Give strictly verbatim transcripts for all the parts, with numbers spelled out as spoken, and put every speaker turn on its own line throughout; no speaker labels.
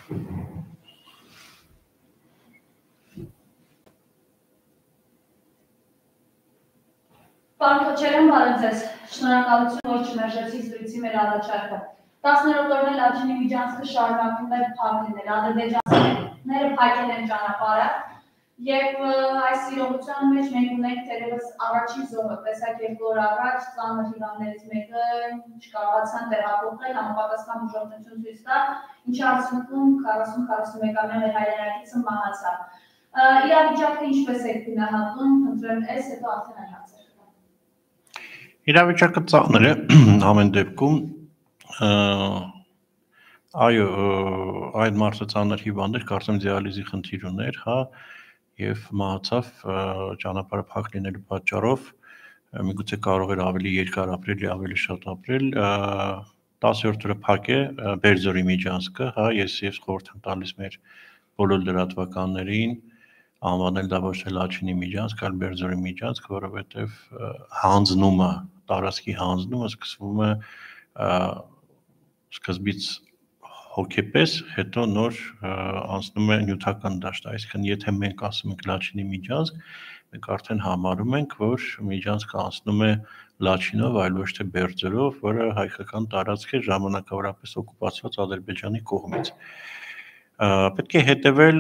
Պարոն Քոչարյան, բարև ձեզ։ Շնորհակալություն, որ չմերժեցիք զրույցի մեր առաջարկը։ տասներորդ օրն էլ Լաչինի միջանցքը շարունակում է փակ լինել։ Ադրբեջանցիները փակել են ճանապարհը եւ այս իրողության մեջ մենք ունենք թերևս առաջին զոհը, տեսակ երկու օր առաջ ծանր հիվանդներից մեկը չկարողացան տեղափոխել, համապատասխան բուժօգնություն ցույց տալ, ինչի արդյունքում քառասուն քառասունմեկամյա մեր հայրենակիցը մահացավ։ Իրավիճակը ինչպես է գնահատում, խնդրեմ ես, հետո արդեն այլ հարցեր կան։
Իրավիճակը ծանր է ամեն դեպքում, այո, այդ մարդը ծանր հիվանդ էր, կարծեմ դիալիզի խնդիր ուներ, հա, եւ մահացավ ճանապարհը փակ լինելու պատճառով, միգուցե կարող էր ավելի երկար ապրել, ավելի շատ ապրել, տասերորդ օրը փակ է Բերձորի միջանցքը, հա, ես ես խորհուրդ եմ տալիս մեր բոլոր լրատվականներին անվանել դա ոչ թե Լաչինի միջանցք, այլ Բերձորի միջանցք, որովհետեւ հանձնումը, տարածքի հանձնումը սկսվում է սկզբից հոգեպես, հետո նոր անցնում է նյութական դաշտ, այսինքն եթե մենք ասում ենք Լաչինի միջանցք, մենք արդեն համարում ենք, որ միջանցքը անցնում է Լաչինով, այլ ոչ թե Բերձորով, որը հայկական տարածք է ժամանակավորապես օկուպացված Ադրբեջանի կողմից։ Պետք է հետևել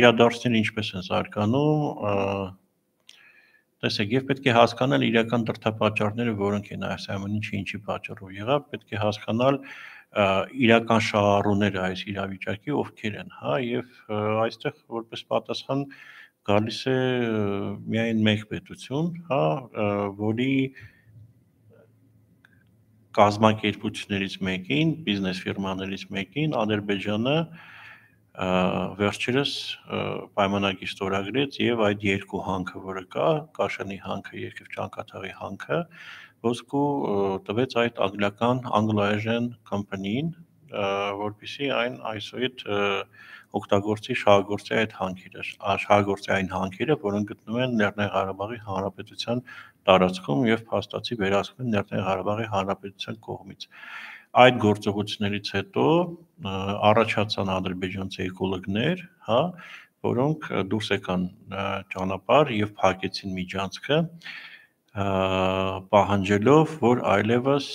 իրադարձները ինչպես են զարգանում, տեսեք, եւ պետք է հասկանալ իրական դրդապատճառները, որոնք են այս ամեն ինչը ինչի պատճառով եղավ, պետք է հասկանալ իրական շահառուները այս իրավիճակի ովքեր են, հա, եւ այստեղ որպես պատասխան գալիս է միայն մեկ պետություն, հա, որի կազմակերպություններից մեկին, բիզնես ֆիրմաներից մեկին Ադրբեջանը վերջերս պայմանագիր ստորագրեց եւ այդ երկու հանքը, որը կա, Կաշանի հանքը եւ Ճանկաթաղի հանքը, ոսկու տվեց այդ անգլիական Anglo-Asian company-ին, որպեսզի այն այսօր օգտագործի շահագործի այդ հանքերը, շահագործի այն հանքերը, որոնք գտնվում են Լեռնային Ղարաբաղի Հանրապետության տարածքում եւ փաստացի վերահսկվում են Լեռնային Ղարաբաղի Հանրապետության կողմից։ Այդ գործողություններից հետո առաջացան ադրբեջանցի էկոլոգներ, հա, որոնք դուրս եկան ճանապարհ եւ փակեցին միջանցքը, պահանջելով, որ այլևս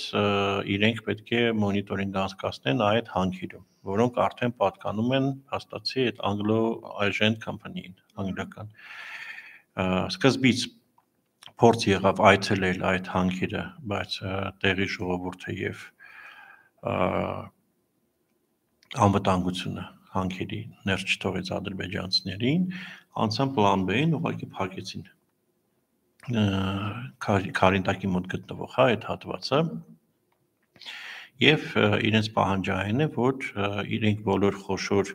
իրենք պետք է մոնիտորինգ անցկացնեն այդ հանքերում, որոնք արդեն պատկանում են հաստատի այդ Anglo-Asian company-ին, անգլիական։ Սկզբից փորձ եղավ այցելել այդ հանքերը, բայց տեղի ժողովուրդը եւ անվտանգությունը հանքերի ներս չթողեց ադրբեջանցիներին, անցան պլան B-ին, ուղղակի փակեցին Քարինտակի մոտ գտնվող հա այդ հատվածը եւ իրենց պահանջային է, որ իրենք բոլոր խոշոր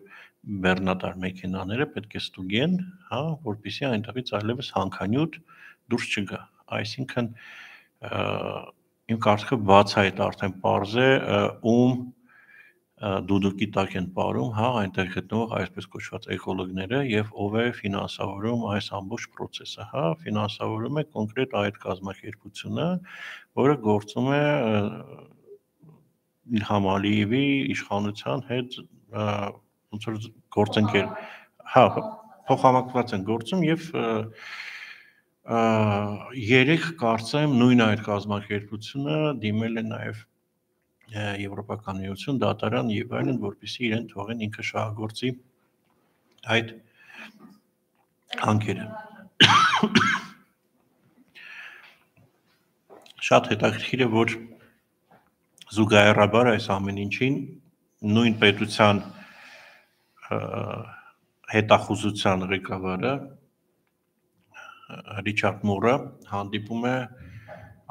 բեռնատար մեքենաները պետք է ստուգեն, հա, որպեսզի այնտեղից այլևս հանքանյութ դուրս չգա, այսինքն իմ կարծիքով բաց է այդ արդեն պարզ է ում դուդուկի տակ են ապարում, հա, այնտեղ գտնվող այսպես կոչված էկոլոգները եւ ով է ֆինանսավորում այս ամբողջ process-ը, հա, ֆինանսավորում է կոնկրետ այդ կազմակերպությունը, որը գործում է Իլհամ Ալիևի իշխանության հետ ոնց որ գործընկեր, հա, փոխհամակցված են գործում եւ երեք կարծեմ նույն այդ կազմակերպությունը դիմել է նաեւ Եվրոպական միություն, դատարան եւ այլն, որպեսզի իրեն թողեն ինքը շահագործի այդ հանքերը։ Շատ հետաքրքիր է, որ զուգահեռաբար այս ամեն ինչին նույն պետության հետախուզության ղեկավարը Ռիչարդ Մուրը հանդիպում է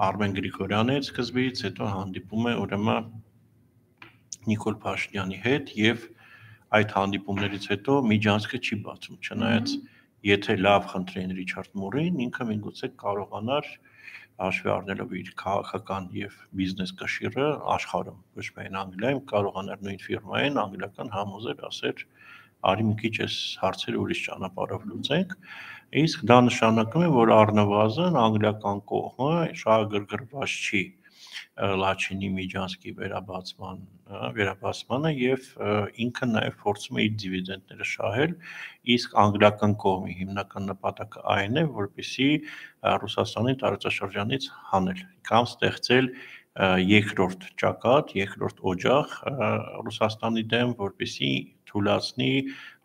Արմեն Գրիգորյանի հետ սկզբից, հետո հանդիպում է ուրեմն Նիկոլ Փաշինյանի հետ եւ այդ հանդիպումներից հետո միջանցքը չի բացում, չնայած եթե լավ խնդրեն Ռիչարդ Մուրին, ինքը միգուցե կարողանար հաշվի առնելով իր քաղաքական եւ բիզնես կշիռը աշխարհում, ոչ միայն Անգլիայում, կարողանար նույն ֆիրմային անգլիական համոզել, ասել արի մի քիչ այս հարցերը ուրիշ ճանապարհով լուծենք, իսկ դա նշանակում է, որ առնվազն անգլիական կողմը շահագրգռված չի Լաչինի Միջանցքի վերաբացման վերաբացմանը եւ ինքը նաեւ փորձում է իր դիվիդենդները շահել, իսկ անգլիական կողմի հիմնական նպատակը այն է, որպեսզի Ռուսաստանի տարածաշրջանից հանել կամ ստեղծել երկրորդ ճակատ, երկրորդ օջախ Ռուսաստանի դեմ, որպեսզի թույլատնի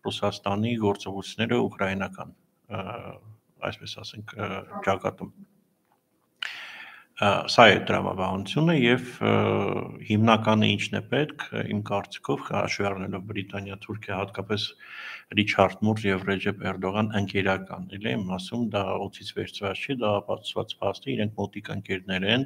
Ռուսաստանի գործողությունները ուկրաինական, այսպես ասենք, ճակատում Սա է դրամաբանությունը եւ հիմնականը ինչն է պետք իմ կարծիքով հաշվի առնելով Բրիտանիա, Թուրքիա, հատկապես Ռիչարդ Մուր եւ Ռեջեփ Էրդողան ընկերական, էլի եմ ասում, դա օծից վերցված չի, դա ապացուցված փաստ է, իրենք մոտիկ ընկերներ են,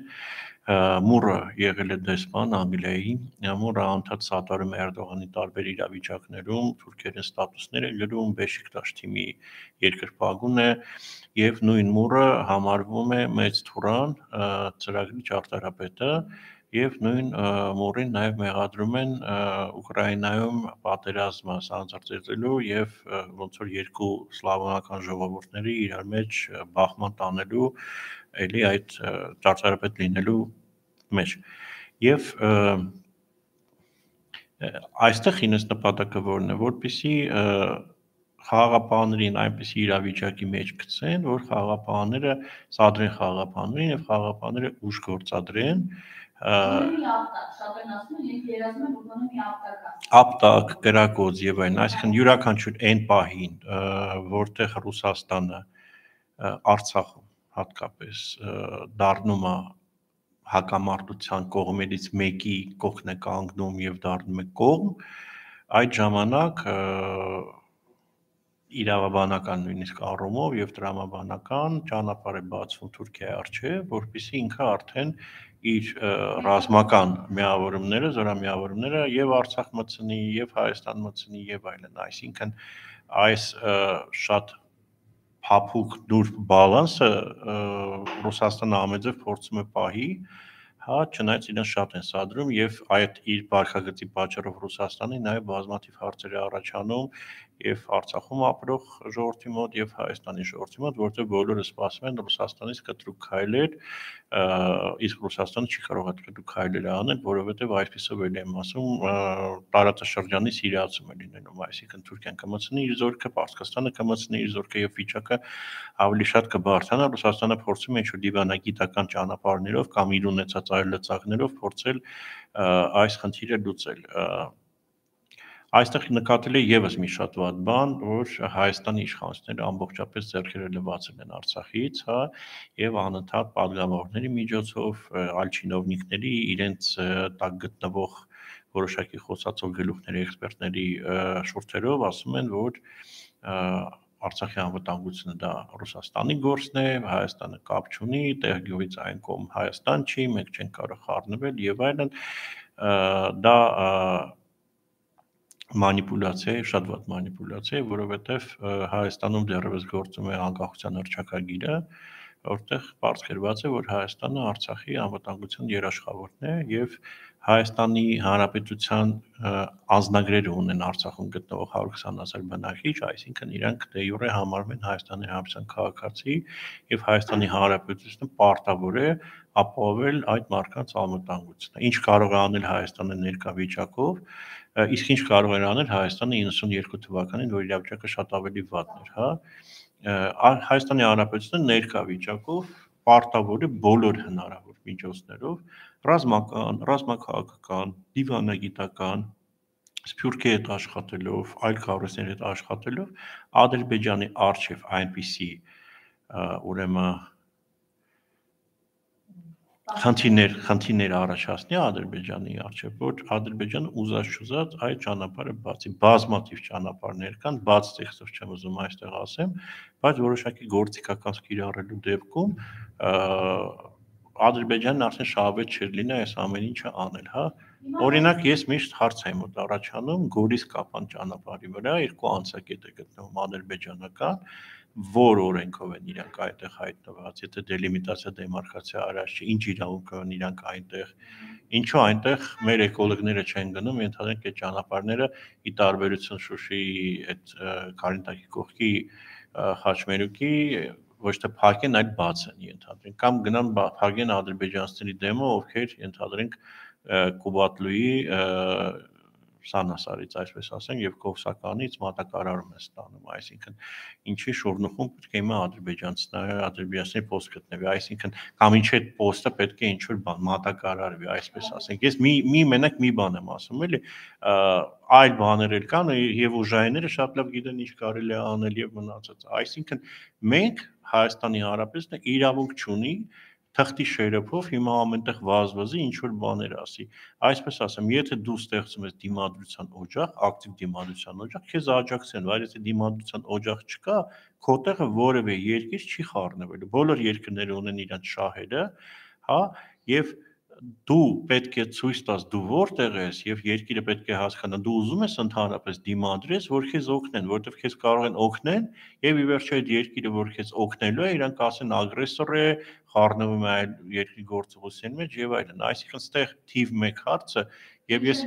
Մուրը եղել է դեսպան Անգլիայի, Մուրը անդադ սատարում է Էրդողանի տարբեր իրավիճակներում, թուրքերեն ստատուսներ է գրում, Բեշիկտաշ թիմի երկրպագուն է եւ նույն Մուրը համարվում է մեծ թուրան ծրագրի ճարտարապետը եւ նույն Մուրին նաեւ մեղադրում են Ուկրաինայում պատերազմը սանձարձելու եւ ոնց որ երկու սլավոնական ժողովուրդների իրար մեջ բախման տանելու էլի այդ ճարտարապետ լինելու մեջ եւ այստեղ ինձ նպատակը որն է որպեսզի խաղաղապահներին այնպեսի իրավիճակի մեջ գցեն, որ խաղաղապահները սադրեն խաղաղապահներին եւ խաղաղապահները ուժ գործադրեն ապտակ, կրակոց եւ այլն, այսինքն յուրաքանչյուր այն պահին, որտեղ Ռուսաստանը Արցախում հատկապես դառնում է հակամարտության կողմերից մեկի կողքն է կանգնում եւ դառնում է կողմ, այդ ժամանակ իրավաբանական նույնիսկ առումով եւ տրամաբանական ճանապարհ է բացվում Թուրքիայի առջեւ, որպեսզի ինքը արդեն իր ռազմական միավորումները, զորամիավորումները եւ Արցախ մտցնի, եւ Հայաստան մտցնի եւ այլն, այսինքն այս շատ փափուկ նուրբ բալանսը Ռուսաստանը ամեջով փորձում է պահի, հա, չնայած իրեն շատ են սադրում եւ այդ իր բարքագծի պատճառով Ռուսաստանի նաեւ բազմաթիվ հարցեր է առաջանում եւ Արցախում ապրող ժողովրդի մոտ եւ Հայաստանի ժողովրդի մոտ, որտեղ բոլորը սպասում են Ռուսաստանից կտրուկ քայլեր, իսկ Ռուսաստանը չի կարող այդ կտրուկ քայլերը անել, որովհետեւ այսպեսով էլ եմ ասում, տարածաշրջանի սիրիացում է լինելու, այսինքն Թուրքիան կմցնի իր զորքը, Պարսկաստանը կմցնի իր զորքը եւ վիճակը ավելի շատ կբարձրանա, Ռուսաստանը փորձում է ինչ-որ դիվանագիտական ճանապարհներով կամ իր ունեցած այլ լծակներով փորձել այս խնդիրը լուծել։ Այստեղ նկատել է եւս մի շատ վատ բան, որ Հայաստանի իշխանությունները ամբողջապես ձեռքերը լվացել են Արցախից, հա, եւ անընդհատ падգամավորների միջոցով, այլ չինովնիկների իրենց տակ գտնվող որոշակի խոսածող գլուխների, էքսպերտների շուրթերով ասում են, որ Արցախի անվտանգությունը դա Ռուսաստանի գործն է, Հայաստանը կապ չունի, տեղգյուղից այն կողմ Հայաստան չի, մենք չենք կարող խառնվել եւ այլն, դա մանիպուլյացիա է, շատ վատ մանիպուլյացիա է, որովհետև Հայաստանում դեռևս գործում է անկախության հռչակագիրը, որտեղ պարզ գրված է, որ Հայաստանը Արցախի անվտանգության երաշխավորն է եւ Հայաստանի Հանրապետության անձնագրերը ունեն Արցախում գտնվող հարյուր քսան հազար բնակիչ, այսինքն իրանք դե յուրե համարվում են Հայաստանի Հանրապետության քաղաքացի եւ Հայաստանի Հանրապետությունը պարտավոր է ապահովել այդ մարդկանց անվտանգությունը։ Ինչ կարող է անել Հայաստանը ներկա վիճակով, իսկ ինչ կարող էր անել Հայաստանը իննսունյերկու թվականին, որ իրավիճակը շատ ավելի վատն էր, հա։ Հայաստանի Հանրապետությունը ներկա վիճակով պարտավոր է բոլոր հնարավոր միջոցներով ռազմական, ռազմաքաղաքական, դիվանագիտական, սփյուռքի հետ աշխատելով, այլ կառույցների հետ աշխատելով Ադրբեջանի արչև այնպիսի ուրեմն խնդիրներ, խնդիրներ առաջացնի Ադրբեջանի արչև, որ Ադրբեջանը ուզած-չուզած այդ ճանապարհը բացի, բազմաթիվ ճանապարհներ կան, բաց տեքստով չեմ ուզում այստեղ ասեմ, բայց որոշակի գործիքական կիրառելու դեպքում Ադրբեջանն արդեն շահավետ չէր լինի այս ամեն ինչը անել, հա։ Օրինակ ես միշտ հարց եմ մոտ առաջանում Գորիս-Կապան ճանապարհի վրա երկու անցակետ է գտնվում ադրբեջանական, որ օրենքով են իրանք այդտեղ հայտնված, եթե դելիմիտացիա դեմարկացիա արած չի, ինչ իրավունքով են իրանք այնտեղ, ինչու այնտեղ մեր էկոլոգները չեն գնում, ենթադրենք այդ ճանապարհները ի տարբերություն Շուշիի այդ Կարինտակի կողքի Խաչմերուկի ոչ թե փակեն, այլ բաց են ենթադրենք, կամ գնան փակեն ադրբեջանցիների դեմը, ովքեր ենթադրենք Կուբատլուի Սանասարից, այսպես ասենք, եւ Կովսականից մատակարարում է ստանում, այսինքն ինչի շուրնուխում պետք է հիմա ադրբեջանցիները, ադրբեջանցիների post գտնվի, այսինքն կամ ինչ այդ post-ը պետք է ինչ որ բան մատակարարվի, այսպես ասենք։ Ես մի մի մենակ մի բան եմ ասում, էլի, այլ բաներ էլ կան եւ ուժայինները շատ լավ գիտեն ինչ կարելի է անել եւ մնացածը։ Այսինքն մենք Հայաստանի Հանրապետությունը իրավունք չունի թղթի շերեփով հիմա ամենտեղ վազվզի ինչ որ բաներ ասի։ Այսպես ասեմ, եթե դու ստեղծում ես դիմադրության օջախ, ակտիվ դիմադրության օջախ, քեզ աջակցեն, բայց եթե դիմադրության օջախ չկա, քո տեղը որևէ երկիր չի խառնվելու։ Բոլոր երկրները ունեն իրենց շահերը, հա, եւ դու պետք է ցույց տաս դու որտեղ ես եւ երկիրը պետք է հասկանա դու ուզում ես ընդհանրապես դիմադրես որ քեզ օգնեն որովհետեւ քեզ կարող են օգնել եւ ի վերջո այդ երկիրը որ քեզ օգնելու է իրանք ասեն ագրեսոր է խառնվում է այլ երկրի գործողության մեջ եւ այլն այսինքն ստեղ թիվ մեկ հարցը եւ ես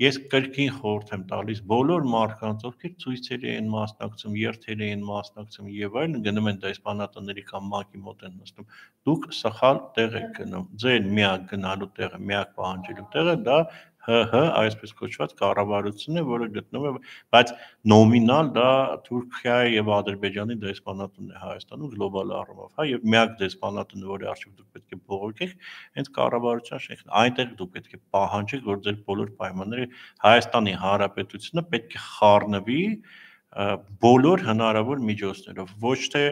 ես կրկին խորհուրդ եմ տալիս բոլոր մարդկանց ովքեր ցույցերի են մասնակցում երթերի են մասնակցում եւ այլն գնում են դեսպանատների կամ մակի մոտ են նստում դուք սխալ տեղ եք գնում ձեր միակ գնալու տեղը միակ պահանջելու տեղը դա ՀՀ այսպես կոչված կառավարությունն է, որը գտնվում է, բայց նոմինալ դա Թուրքիայի եւ Ադրբեջանի դեսպանատունն է Հայաստանում գլոբալ առումով, հա, եւ միակ դեսպանատունը, որի արժեվ դուք պետք է բողոքեք, հենց կառավարության շենքն է։ Այնտեղ դուք պետք է պահանջեք, որ ձեր բոլոր պայմանները Հայաստանի Հանրապետությունը պետք է խառնվի բոլոր հնարավոր միջոցներով, ոչ թե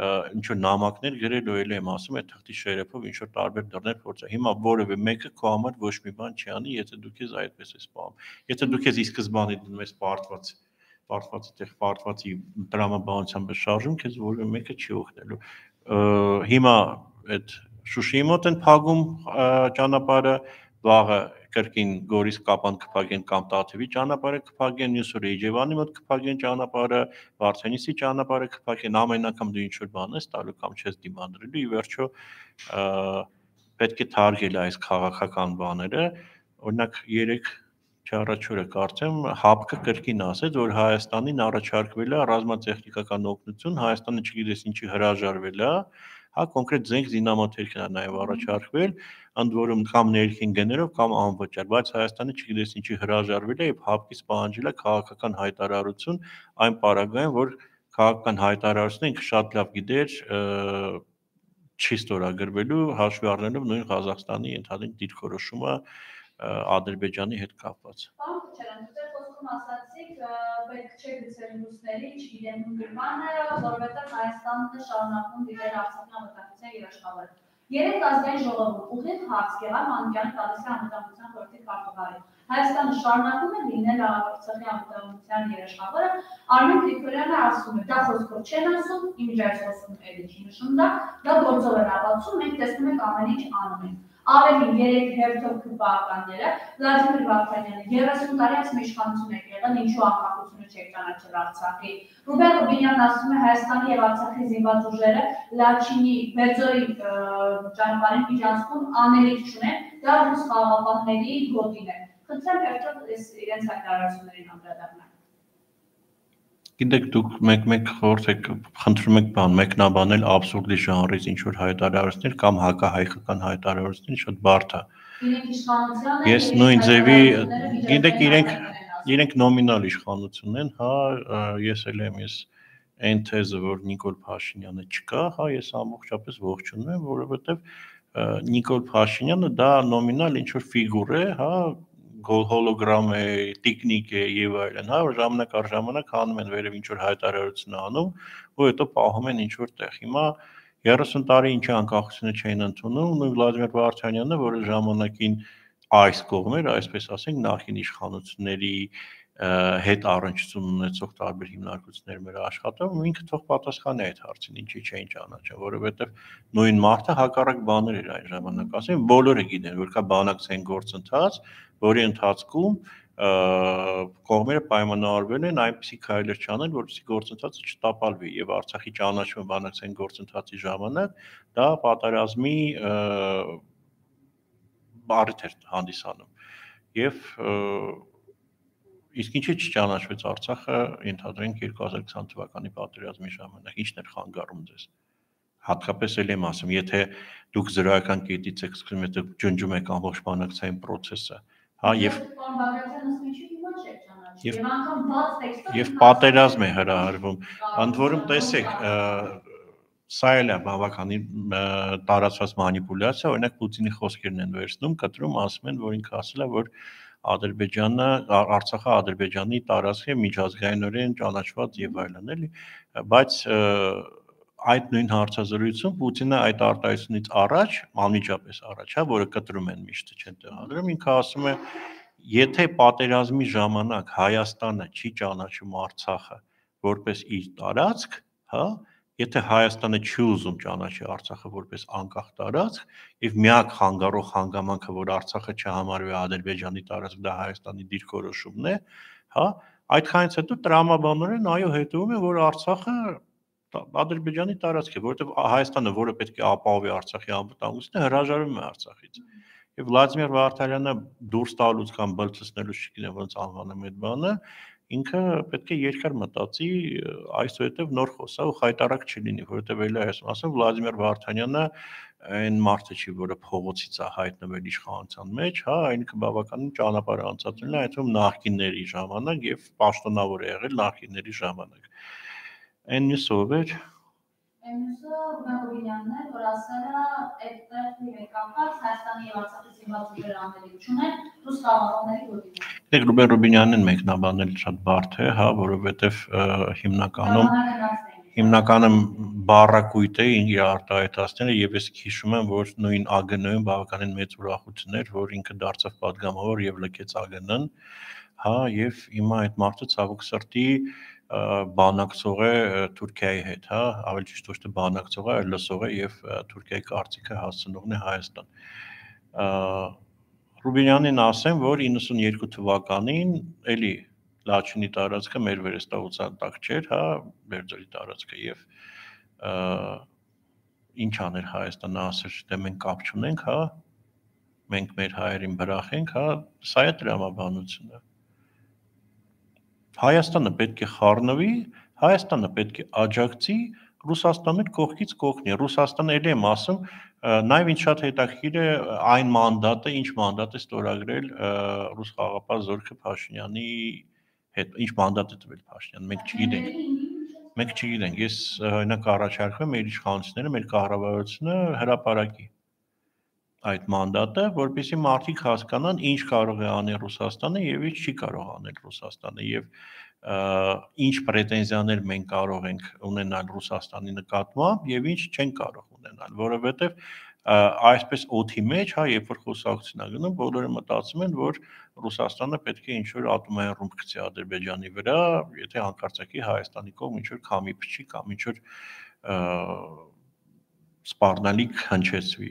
ինչ որ նամակներ գրելու էլ եմ ասում այդ թղթի շերեփով ինչ որ տարբեր դռներ փորձա հիմա որևէ մեկը քո համար ոչ մի բան չի անի եթե դու քեզ այդպես ես պահում եթե դու քեզ ի սկզբանե դնում ես պարտված պարտվածի տեղ պարտվածի տրամաբանությամբ շարժում քեզ որևէ մեկը չի օգնելու հիմա այդ Շուշիի մոտ են փակում ճանապարհը վաղը կրկին Գորիս կապան կփակեն կամ Տաթևի ճանապարհը կփակեն, մյուս օրը Իջևանի մոտ կփակեն ճանապարհը, Վարդենիսի ճանապարհը կփակեն, ամեն անգամ դու ինչ որ բան ես տալու կամ չես դիմադրելու, ի վերջո պետք է թարգել այս քաղաքական բաները, օրինակ երեք չառաջորը կարծեմ հապկը կրկին ասեց, որ Հայաստանին առաջարկվել է ռազմատեխնիկական օգնություն, Հայաստանը չգիտես ինչի հրաժարվել է, հա կոնկրետ զենք զինամթերքն է նաև առաջարկվել, ընդ որում կամ ներքին գներով կամ անվճար, բայց Հայաստանը չգիտես ինչի հրաժարվել է եւ հապկից պահանջել է քաղաքական հայտարարություն այն պարագայում, որ քաղաքական հայտարարությունը ինքը շատ լավ գիտեր չի ստորագրվելու հաշվի առնելով նույն Ղազախստանի ընդհանուր դիրքորոշումը Ադրբեջանի հետ կապված։
Պարոն Քոչարյան, դուք խոսքում ասացիք, պետք չէ գցել ռուսների չգիտեմ նույնանը, որովհետև Հայաստանը շարունակում դիտել Արցախի անվտանգության երաշխավորը։ Երեք ազգային ժողովում ուղիղ հարց Գեղամ Մանուկյանը տալիս է անվտանգության խորհրդի քարտուղարին։ Հայաստանը շարունակում է լինել Արցախի անվտանգության երաշխավորը, Արմեն Գրիգորյանը ասում է, դա խոսքով չեն ասում, իմիջայց խոսում էլի չի նշում դա, դա գործով են ապացուցում, մենք տեսնում ենք ամեն ինչ անում են։ Ավելին երեք հերթով քպականները Վլադիմիր Վարդանյանը երեսուն տարի ասում իշխանություն եք եղել, ինչու անկախությունը չեք ճանաչել Արցախի։ Ռուբեն Ռուբինյանն ասում է Հայաստանի եւ Արցախի զինված ուժերը Լաչինի Բերձորի ճանապարհին միջանցքում անելիք չունեն, դա ռուս խաղաղապահների գոտին է։ Խնդրեմ հերթով իրենց հայտարարություններին անդրադառնալ։
Գիտեք դուք մեկ-մեկ խորհուրդ եք խնդրում եք բան մեկնաբանել абսուրդի ժանրից ինչ որ հայտարարություններ կամ հակահայկական հայտարարություններ շատ բարդ է։
Իրենք իշխանության են։
Ես նույն ձևի գիտեք իրենք իրենք նոմինալ իշխանություն են, հա, ես էլ եմ ես այն թեզը որ Նիկոլ Փաշինյանը չկա, հա, ես ամբողջապես ողջունում եմ, որովհետև Նիկոլ Փաշինյանը դա նոմինալ ինչ որ ֆիգուր է, հա, հոլոգրամ է, տիկնիկ է եւ այլն, հա, ժամանակ առ ժամանակ հանում են վերև ինչ որ հայտարարություն անում, ու հետո պահում են ինչ որ տեղ։ Հիմա երեսուն տարի ինչի անկախությունը չէին ընդունում, նույն Վլադիմիր Վարդանյանը, որը ժամանակին այս կողմեր, այսպես ասենք, նախին իշխանությունների հետ առնչություն ունեցող տարբեր հիմնարկություններ մեր աշխատում, ինքը թող պատասխանի այդ հարցին, ինչի չէին ճանաչում, որովհետև նույն մարդը հակառակ բաներ էր այն ժամանակ ասում, բոլորը գիտեն, որ կա բանակցային գործընթաց, որի ընթացքում կողմերը պայմանավորվել են այնպիսի քայլեր չանել, որպեսզի գործընթացը չտապալվի եւ Արցախի ճանաչումը բանակցային գործընթացի ժամանակ դա պատերազմի բարդ էր հանդիսանում եւ իսկ ինչի չճանաչվեց Արցախը ընդհանրենք երկու հազար քսան թվականի պատերազմի ժամանակ ինչն էր խանգարում ձեզ հատկապես էլ եմ ասում, եթե դուք զրոյական կետից եք սկսում, եթե ջնջում եք ամբողջ բանակցային process-ը, հա, եւ եւ պատերազմ է հրահրվում, ընդ որում տեսեք, սա էլ է բավականին տարածված մանիպուլյացիա, օրինակ Պուտինի խոսքերն են վերցնում, կտրում, ասում են, որ ինքը ասել է, որ Ադրբեջանը, Արցախը Ադրբեջանի տարածք է միջազգայինորեն ճանաչված եւ այլն, էլի, բայց այդ նույն հարցազրույցում Պուտինը այդ արտահայտությունից առաջ, անմիջապես առաջ, հա, որը կտրում են միշտ չեն տեղադրում, ինքը ասում է, եթե պատերազմի ժամանակ Հայաստանը չի ճանաչում Արցախը որպես իր տարածք, հա, եթե Հայաստանը չի ուզում ճանաչի Արցախը որպես անկախ տարածք, եւ միակ հանգարող հանգամանքը, որ Արցախը չհամարվի Ադրբեջանի տարածք, դա Հայաստանի դիրքորոշումն է, հա, այդքանից հետո տրամաբանորեն այո հետևում է, որ Արցախը Ադրբեջանի տարածք է, որովհետեւ Հայաստանը, որը պետք է ապահովի Արցախի անվտանգությունը, հրաժարվում է Արցախից։ Եվ Վլադիմիր Վարդանյանը դուրս տալուց կամ բլցնելուց չգիտեմ ոնց անվանեմ այդ բանը, ինքը պետք է երկար մտածի այսուհետև նոր խոսա ու խայտարակ չլինի, որովհետև էլի այսում ասում Վլադիմիր Վարդանյանը այն մարդը չի, որը փողոցից է հայտնվել իշխանության մեջ, հա, ինքը բավականին ճանապարհ անցած ունի, այդում նախկինների ժամանակ եւ պաշտոնավոր է եղել նախկինների ժամանակ։ Այն մյուսով էր
Այնուսը Ռուբեն է, որ ասել է այդտեղ մի կապված Հայաստանի եւ Արցախի զինված ուժեր անելիություն են ռուս խաղաղների գործին։
Դե Ռուբեն Ռուբինյանին մեկնաբանել շատ բարդ է, հա, որովհետեւ հիմնականում հիմնականում բառակույտ է իր արտահայտածները եւ ես հիշում եմ, որ նույն ԱԳՆ-ում բավականին մեծ ուրախություն էր, որ ինքը դարձավ падգամավոր եւ լքեց ԱԳՆ-ն, հա, եւ հիմա այդ մարդը ցավոք սրտի բանակցող է Թուրքիայի հետ, հա, ավելի ճիշտ ոչ թե բանակցող է, այլ լսող է եւ Թուրքիայի կարծիքը հասցնողն է Հայաստան։ Ռուբինյանին ասեմ, որ իննսունյերկու թվականին էլի Լաչինի տարածքը մեր վերստահության տակ չէր, հա, Բերձորի տարածքը եւ ինչ աներ Հայաստանը, ասեր, դե մենք կապ չունենք, հա, մենք մեր հայերին բրախենք, հա, սա է տրամաբանությունը։ Հայաստանը պետք է խառնվի, Հայաստանը պետք է աջակցի, Ռուսաստանը կողքից կողքնի։ Ռուսաստանը էլ եմ ասում, նաեւ ինչ շատ հետաքրքիր է այն մանդատը, ինչ մանդատ է ստորագրել ռուս խաղաղապահ Զորքը Փաշինյանի հետ, ինչ մանդատ է տվել Փաշինյանը, մենք չգիտենք։ Մենք չգիտենք, ես օրինակ առաջարկում եմ մեր իշխանությունները, մեր կառավարությունը հրապարակի այդ մանդատը, որպեսզի մարդիկ հասկանան ինչ կարող է անել Ռուսաստանը եւ ինչ չի կարող անել Ռուսաստանը եւ ինչ պրետենզիաներ մենք կարող ենք ունենալ Ռուսաստանի նկատմամբ եւ ինչ չենք կարող ունենալ, որովհետեւ այսպես օդի մեջ, հա, երբ որ խոսակցություն է գնում, բոլորը մտածում են, որ Ռուսաստանը պետք է ինչ-որ ատոմային ռումբ գցի Ադրբեջանի վրա, եթե հանկարծակի Հայաստանի կողմ ինչ-որ քամի փչի կամ ինչ-որ սպառնալիք հնչեցվի,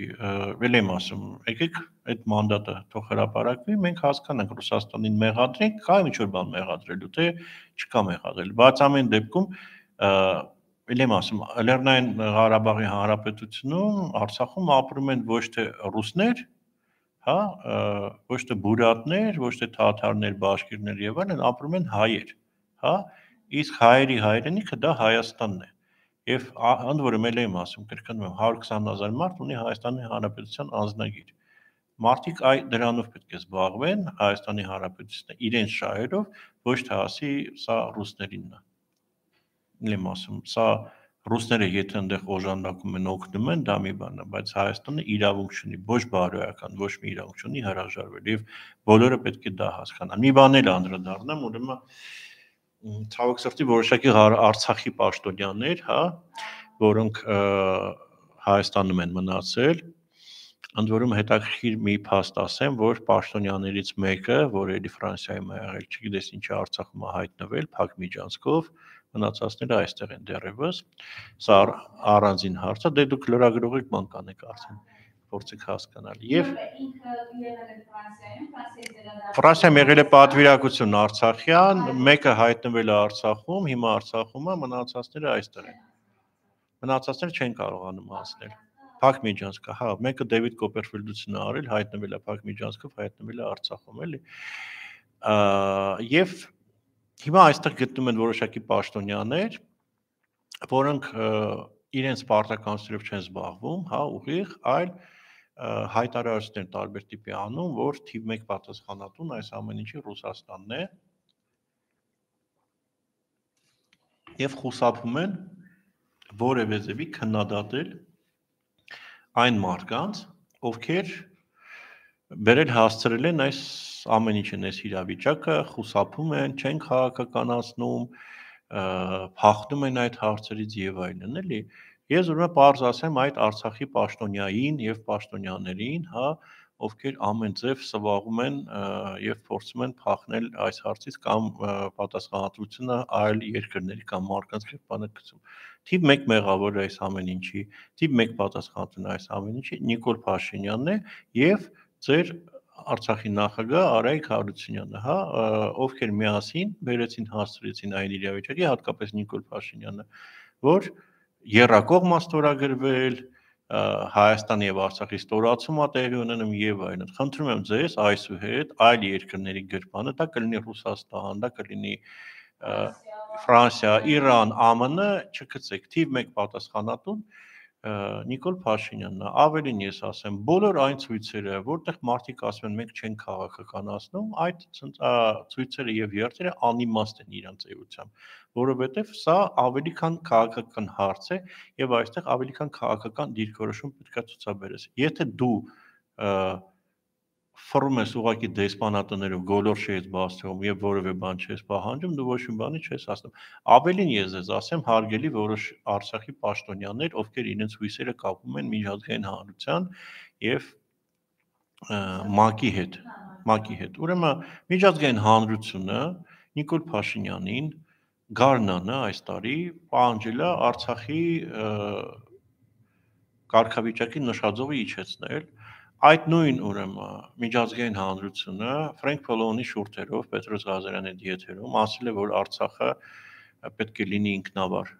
ել եմ ասում, եկեք այդ մանդատը թող հրապարակվի, մենք հասկանանք Ռուսաստանին մեղադրենք, կա ինչ-որ բան մեղադրելու, թե չկա մեղադրել, բայց ամեն դեպքում ել եմ ասում, Լեռնային Ղարաբաղի Հանրապետությունում, Արցախում ապրում են ոչ թե ռուսներ, հա, ոչ թե բուրատներ, ոչ թե թաթարներ, բաշկիրներ եւ այլն, ապրում են հայեր, հա, իսկ հայերի հայրենիքը դա Հայաստանն է։ Եվ ընդ որում էլ եմ ասում, կրկնում եմ, հարյուր քսան հազար մարդ ունի Հայաստանի Հանրապետության անձնագիր։ Մարդիկ այ դրանով պետք է զբաղվեն Հայաստանի Հանրապետությունը իրենց շահերով, ոչ թե ասի սա ռուսներինն է։ Եմ ասում, սա ռուսները եթե այնտեղ օժանդակում են, օգնում են, դա մի բան է, բայց Հայաստանը իրավունք չունի, ոչ բարոյական, ոչ մի իրավունք չունի հրաժարվել եւ բոլորը պետք է դա հասկանան։ Մի բան էլ անդրադառնամ, ուրեմն ցավոք սրտի որոշակի Արցախի պաշտոնյաներ, հա, որոնք Հայաստանում են մնացել, ընդ որում հետաքրքիր մի փաստ ասեմ, որ պաշտոնյաներից մեկը, որ էլի Ֆրանսիայում է եղել, չգիտես ինչի Արցախում է հայտնվել, փակ միջանցքով, մնացածները այստեղ են դեռևս, սա առանձին հարց է, դե դուք լրագրող եք, բան կանեք արդեն, փորձեք հասկանալ։ Եվ Ֆրանսիայում եղել է պատվիրակություն Արցախյան, մեկը հայտնվել է Արցախում, հիմա Արցախում է, մնացածները այստեղ են։ Մնացածները չեն կարողանում հասնել։ Փակ միջանցք, հա, մեկը Դեվիդ Կոպերֆիլդությունն է արել, հայտնվել է փակ միջանցքով, հայտնվել է Արցախում, էլի։ Եվ հիմա այստեղ գտնում են որոշակի պաշտոնյաներ, որոնք իրենց պարտականություններով չեն զբաղվում, հա, ուղիղ, այլ հայտարարություններ տարբեր տիպի անում, որ թիվ մեկ պատասխանատուն այս ամեն ինչի Ռուսաստանն է եւ խուսափում են որևէ ձևի քննադատել այն մարդկանց, ովքեր բերել հասցրել են այս ամեն ինչն այս իրավիճակը, խուսափում են, չեն քաղաքականացնում, փախնում են այդ հարցերից եւ այլն, էլի։ Ես ուրեմն պարզ ասեմ այդ Արցախի պաշտոնյային եւ պաշտոնյաներին, հա, ովքեր ամեն ձև սվաղում են եւ փորձում են փախնել այս հարցից կամ պատասխանատվությունը այլ երկրների կամ մարդկանց գրպանակցում։ Թիվ մեկ մեղավոր այս ամեն ինչի, թիվ մեկ պատասխանատուն այս ամեն ինչի Նիկոլ Փաշինյանն է եւ ձեր Արցախի նախագահ Արայիկ Հարությունյանը, հա, ովքեր միասին բերեցին հասցրեցին այն իրավիճակի, հատկապես Նիկոլ Փաշինյանը, որ եռակողմ ստորագրվել, Հայաստանի եւ Արցախի ստորացում ա տեղի ունենում եւ այլն։ Խնդրում եմ ձեզ այսուհետ այլ երկրների գրպանը, դա կլինի Ռուսաստան, դա կլինի Ֆրանսիա, Իրան, ԱՄՆ, չգցեք թիվ մեկ պատասխանատուն Նիկոլ Փաշինյանն է, ավելին ես ասեմ, բոլոր այն ցույցերը, որտեղ մարդիկ ասում են մենք չենք քաղաքականացնում, այդ ցույցերը եւ երթերը անիմաստ են իրանց էությամբ, որովհետեւ սա ավելի քան քաղաքական հարց է եւ այստեղ ավելի քան քաղաքական դիրքորոշում պետք է ցուցաբերես։ Եթե դու ֆռում ես ուղակի դեսպանատներով գոլորշի ես բացվում եւ որևէ բան չես պահանջում, դու ոչ մի բանի չես ասում։ Ավելին ես ես ասեմ, հարգելի որոշ Արցախի պաշտոնյաներ, ովքեր իրենց հույսերը կապում են միջազգային հանրության եւ ՄԱԿ-ի հետ, ՄԱԿ-ի հետ։ Ուրեմն միջազգային հանրությունը Նիկոլ Փաշինյանին Գարնանը այս տարի պահանջել է Արցախի կարգավիճակի նշաձողը իջեցնել։ Այդ նույն ուրեմն միջազգային հանրությունը Ֆրենկ Փոլոնի շուրթերով Պետրոս Ղազարյանի դիեթերում ասել է, որ Արցախը պետք է լինի ինքնավար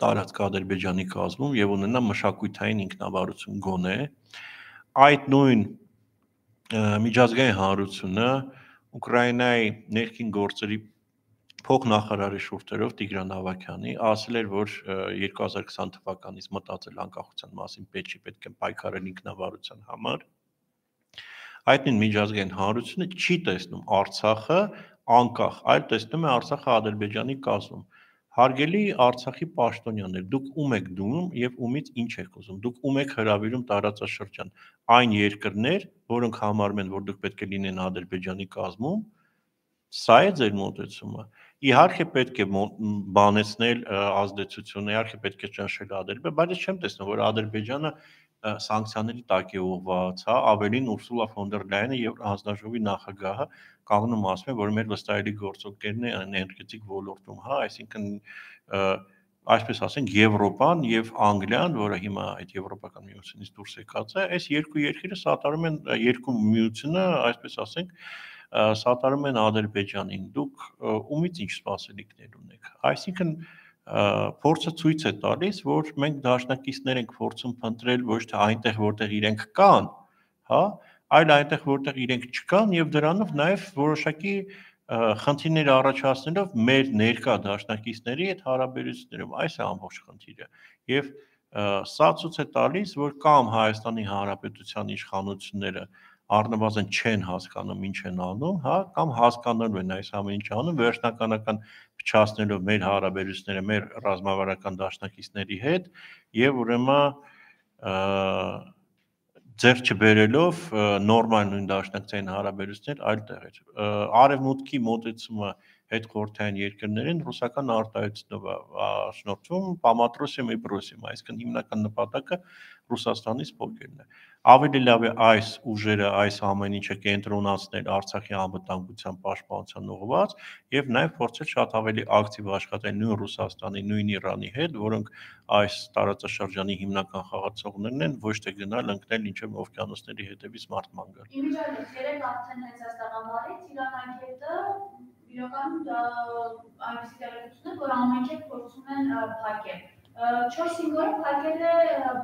տարածք Ադրբեջանի կազմում եւ ունենա մշակութային ինքնավարություն գոնե։ Այդ նույն միջազգային հանրությունը Ուկրաինայի ներքին գործերի փոխնախարարի շուրթերով Տիգրան Ավագյանի ասել էր, որ երկու հազար քսան թվականից մտածել անկախության մասին պետք չի, պետք է պայքարել ինքնավարության համար։ Այդ նույն միջազգային հանրությունը չի տեսնում Արցախը անկախ, այլ տեսնում է Արցախը Ադրբեջանի կազմում։ Հարգելի Արցախի պաշտոնյաներ, դուք ում եք դնում եւ ումից ինչ եք ուզում։ Դուք ում եք հրավիրում տարածաշրջան այն երկրներ, որոնք համարում են, որ դուք պետք է լինեն Ադրբեջանի կազմում, սա է ձեր մոտեցումը։ Իհարկե պետք է բանեցնել ազդեցությունը, իհարկե պետք է ճնշել Ադրբեջանը, բայց ես չեմ տեսնում, որ Ադրբեջանը սանկցիաների տակ է ուղղված, հա, ավելին Ուրսուլա ֆոն դեր Լայենը եւ հանձնաժողովի նախագահը կանգնում ասում են, որ մեր վստահելի գործընկերն է էներգետիկ ոլորտում, հա, այսինքն այսպես ասենք Եվրոպան եւ Անգլիան, որը հիմա այդ եվրոպական միությունից դուրս եկած է, այս երկու երկիրը սատարում են երկու միությունը, այսպես ասենք, սատարում են Ադրբեջանին։ Դուք ումից ինչ սպասելիքներ ունեք։ Այսինքն փորձը ցույց է տալիս, որ մենք դաշնակիցներ ենք փորձում փնտրել ոչ թե այնտեղ, որտեղ իրենք կան, հա, այլ այնտեղ, որտեղ իրենք չկան եւ դրանով նաեւ որոշակի խնդիրներ առաջացնելով մեր ներկա դաշնակիցների հետ հարաբերություններում, այս է ամբողջ խնդիրը։ Եվ սա ցույց է տալիս, որ կամ Հայաստանի Հանրապետության իշխանությունները առնվազն չեն հասկանում ինչ են անում, հա, կամ հասկանալու են այս ամեն ինչը անում, վերջնականական փչացնելով մեր հարաբերությունները մեր ռազմավարական դաշնակիցների հետ եւ ուրեմն ձեռ չբերելով նորմալ նույն դաշնակցային հարաբերություններ այլ տեղեր։ Արևմուտքի մոտեցումը հետխորհրդային երկրներին ռուսական արտահայտությունով շնորհվում Պամատրոսիում եւ Բրոսիում, այսինքն հիմնական նպատակը Ռուսաստանից փոխելն է։ Ավելի լավ է այս ուժերը, այս ամեն ինչը կենտրոնացնել Արցախի անվտանգության պաշտպանության ուղղված եւ նաեւ փորձել շատ ավելի ակտիվ աշխատել նույն Ռուսաստանի, նույն Իրանի հետ, որոնք այս տարածաշրջանի հիմնական խաղացողներն են, ոչ թե գնալ ընկնել ինչեւ օվկիանոսների հետևից մարտման գալ։
Իմիջիայլոց երեք արդեն հենց այս տաղավարից Իրան անկետը իրականում այնպիսի տեղեկություններ, որ ամենքեր փորձում են փակել։ չորս-հինգ օր փակել է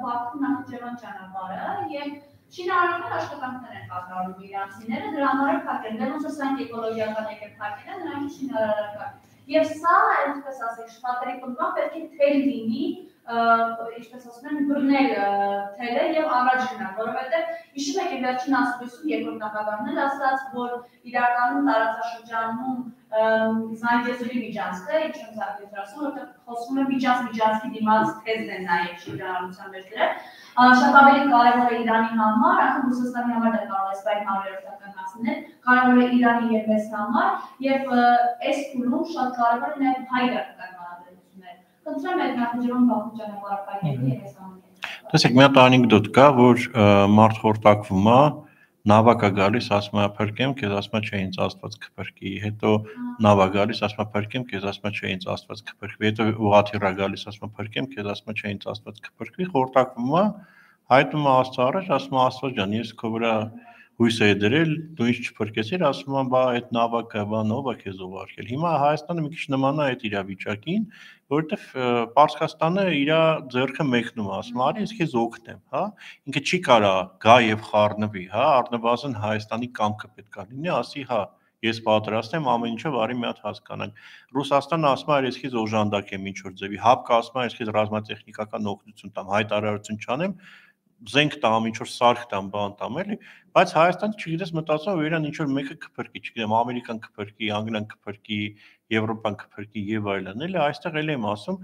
Բաքու Նախիջևան ճանապարհը եւ շինարարական աշխատանքներ են կատարում իրանցիները, դրա համար փակել։ Դե ոնց ասենք էկոլոգիական եկել փակել են, նրանք շինարարական։ Եվ սա, այսպես ասենք, շատերի կողմից պետք է թել լինի ինչպես ասում են, բռնել թելը եւ առաջ գնալ, որովհետեւ հիշում եք վերջին ասուլիսում երկրորդ նախագահն էլ ասաց, որ իրականում տարածաշրջանում Զանգեզուրի միջանցքը, ինչ եմ զարգացրել ասում, որտեղ խոսվում է միջանց-միջանցքի դիմաց թեզն են նաեւ շրջանառության մեջ դրել, շատ ավելի կարևոր է Իրանի համար, անկամ Ռուսաստանի համար դա կարող է սպայք հարյուրորդական հասնել, կարևոր է Իրանի եւ մեզ համար եւ այս փուլում շատ կարևոր է նաեւ հայ-իրաքական հարաբերությունները։ Խնդրեմ այդ նախաձեռնում բախում ճանապարհապետի եւ այս ամենը։
Տեսեք, մի հատ անեկդոտ կա, որ մարդ խորտակվում է, նավակա գալիս, ասում է փրկեմ, քեզ ասում է չէ ինձ Աստված կփրկի, հետո նավա գալիս, ասում է փրկեմ, քեզ ասում է չէ ինձ Աստված կփրկի, հետո ուղղաթիռա գալիս, ասում է փրկեմ, քեզ ասում է չէ ինձ Աստված կփրկի, խորտակվում է, հայտնում է Աստծո առաջ, ասում է Աստված ջան, ես քո վրա հույս էի դրել, դու ինձ չփրկեցիր, ասում է բա այդ նավակը բան ով է քեզ ուղարկել։ Հիմա Հայաստանը մի քիչ նման է այդ իրավիճակին, որովհետև Պարսկաստանը իր ձեռքը մեկնում է, ասում է արի ես քեզ օգնեմ, հա, ինքը չի կարա գա եւ խառնվի, հա, առնվազն Հայաստանի կամքը պետք է լինի, ասի հա, ես պատրաստ եմ ամեն ինչով արի մի հատ հասկանանք։ Ռուսաստանը ասում է ես քեզ օժանդակեմ ինչ որ ձևի, հապկը ասում է ես քեզ ռազմատեխնիկական օգնություն տամ, հայտարարություն չանեմ, զենք տամ, ինչ որ սարք տամ, բան տամ, էլի, բայց Հայաստանը չգիտես մտածում է, որ իրան ինչ որ մեկը կփրկի, չգիտեմ, Ամերիկան կփրկի, Անգլիան կփրկի, Եվրոպան կփրկի եւ այլն, էլի, այստեղ էլ եմ ասում,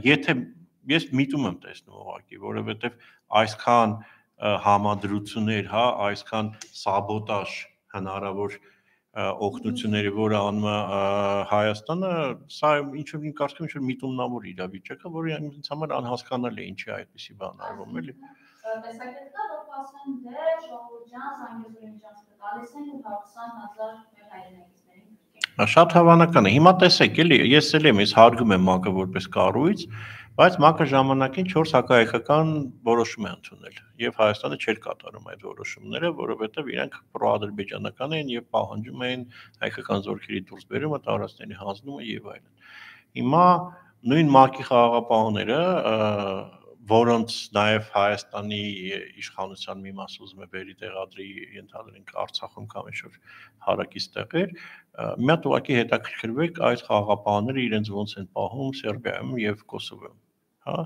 եթե ես միտում եմ տեսնում ուղղակի, որովհետեւ այսքան համադրություններ, հա, այսքան սաբոտաժ հնարավոր օգնությունների, որը անում է Հայաստանը, սա ինչ որ իմ կարծիքով ինչ որ միտումնավոր իրավիճակ է, որը ինձ համար անհասկանալի է, ինչի այդպեսի բան արվում, էլի։
Տեսակետ կա, որ ասեն դե ժողովուրդ ջան, Զանգեզուրի միջանցքը տալիս են ու հաղթան հազար մեր հայրենակիցներին։
Շատ հավանական է։ Հիմա տեսեք, էլի, ես էլ եմ, ես հարգում եմ ՄԱԿ-ը որպես կառույց, բայց ՄԱԿ-ը ժամանակին չորս հակահայկական որոշում է ընդունել եւ Հայաստանը չէր կատարում այդ որոշումները, որովհետեւ իրենք պրոադրբեջանական են եւ պահանջում էին հայկական զորքերի դուրսբերումը, տարածքների հանձնումը եւ այլն։ Հիմա նույն ՄԱԿ-ի խաղաղապահները, որոնց նաև Հայաստանի իշխանության մի մաս ուզում է բերի տեղադրի, ենթադրենք Արցախում կամ ինչ-որ հարակից տեղեր, մի հատ ուղղակի հետաքրքրվեք այս խաղաղապահները իրենց ոնց են պահում Սերբիայում եւ Կոսովոյում, հա,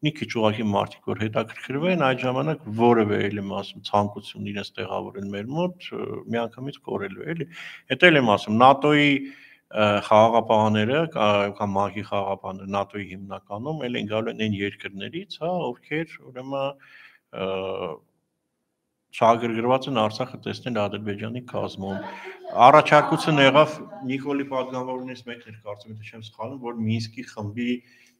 մի քիչ ուղղակի մարդիկ որ հետաքրքրվեն, այդ ժամանակ որևէ էլ եմ ասում ցանկություն իրենց տեղավորեն մեր մոտ, միանգամից կորելու է, էլի։ Հետո էլ եմ ասում ՆԱՏՕ-ի խաղաղապահները կամ ՄԱԿ-ի խաղաղապահները ՆԱՏՕ-ի հիմնականում էլ են գալու այն երկրներից, հա, ովքեր ուրեմն շահագրգռված են Արցախը տեսնել Ադրբեջանի կազմում։ Առաջարկություն եղավ Նիկոլի պատգամավորներից մեկն էր, կարծում եմ, թե չեմ սխալվում, որ Մինսկի խմբի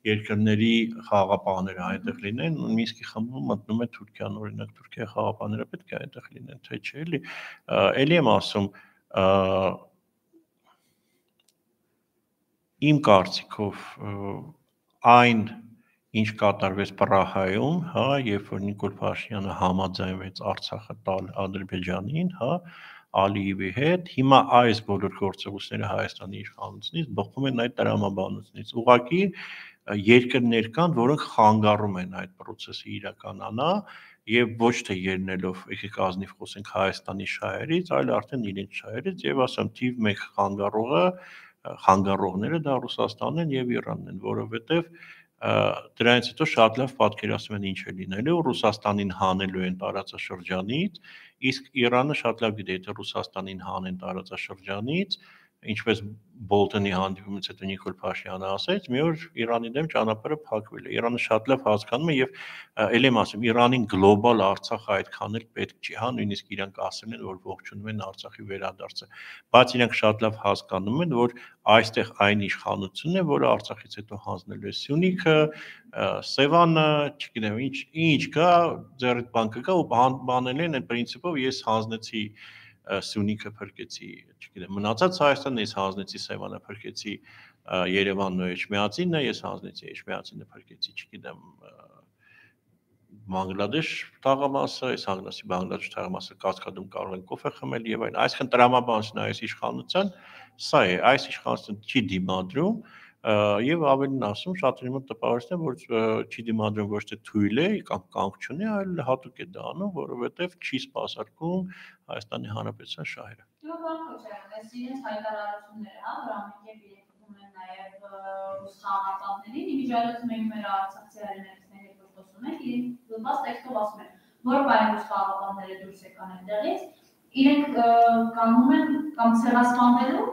երկրների խաղաղապահները այնտեղ լինեն, Մինսկի խմբում մտնում է Թուրքիան, օրինակ Թուրքիայի խաղաղապահները պետք է այնտեղ լինեն, թե չէ, էլի։ Էլի եմ ասում, իմ կարծիքով այն ինչ կատարվեց Պրահայում, հա, երբ որ Նիկոլ Փաշինյանը համաձայնվեց Արցախը տալ Ադրբեջանին, հա, Ալիևի հետ, հիմա այս բոլոր գործողությունները Հայաստանի իշխանությունից բխում են այդ տրամաբանությունից։ Ուղղակի երկրներ կան, որոնք խանգարում են այդ process-ը իրականանա եւ ոչ թե ելնելով, եկեք ազնիվ խոսենք Հայաստանի շահերից, այլ արդեն իրենց շահերից եւ ասեմ թիվ մեկ խանգարողը խանգարողները դա Ռուսաստանն են եւ Իրանն են, որովհետեւ դրանից հետո շատ լավ պատկերացնում են ինչ է լինելու, Ռուսաստանին հանելու են տարածաշրջանից, իսկ Իրանը շատ լավ գիտի, եթե Ռուսաստանին հանեն տարածաշրջանից, ինչպես Բոլտոնի հանդիպումից հետո Նիկոլ Փաշինյանը ասաց, մի օր Իրանի դեմ ճանապարհը փակվել է։ Իրանը շատ լավ հասկանում է եւ ել եմ ասում, Իրանին գլոբալ Արցախը այդքան էլ պետք չի, հա, նույնիսկ իրանք ասել են, որ ողջունում են Արցախի վերադարձը, բայց իրանք շատ լավ հասկանում են, որ այստեղ այն իշխանությունն է, որը Արցախից հետո հանձնելու է Սյունիքը, Սևանը, չգիտեմ, ինչ, ինչ կա, ձեռիդ բան կգա ու բանել են այդ պրինցիպով ես հանձնեցի Սյունիքը փրկեցի, չգիտեմ, մնացած Հայաստանը ես հանձնեցի Սևանը փրկեցի Երևանն ու Էջմիածինը, ես հանձնեցի Էջմիածինը փրկեցի, չգիտեմ, Բանգլադեշ թաղամասը, ես հանձնեցի Բանգլադեշ թաղամասը Կասկադում կարող են կոֆե խմել եւ այլն, այսինքն տրամաբանությունը այս իշխանության, սա է, այս իշխանությունը չի դիմադրում եւ ավելին ասում, շատերի մոտ տպավորություն է, որ չի դիմադրում ոչ թե թույլ է կամ կանգ չունի, այլ հատուկ է դա անում, որովհետեւ չի սպասարկում Հայաստանի Հանրապետության շահերը։
Դու բան քոչարան, այս իրենց հայտարարությունները, հա, որ ամենքեր իրենք են նաև ռուս խաղաղապահներին, իմիջիայլոց մենք մեր Արցախցի սիարիներիցների հետ խոսում ենք, իրենք բաց տեքստով ասում են, որ բայնուս խաղապանները դուրս եկան այնտեղից, իրենք կանգնում են կամ ցեղասպանվելու,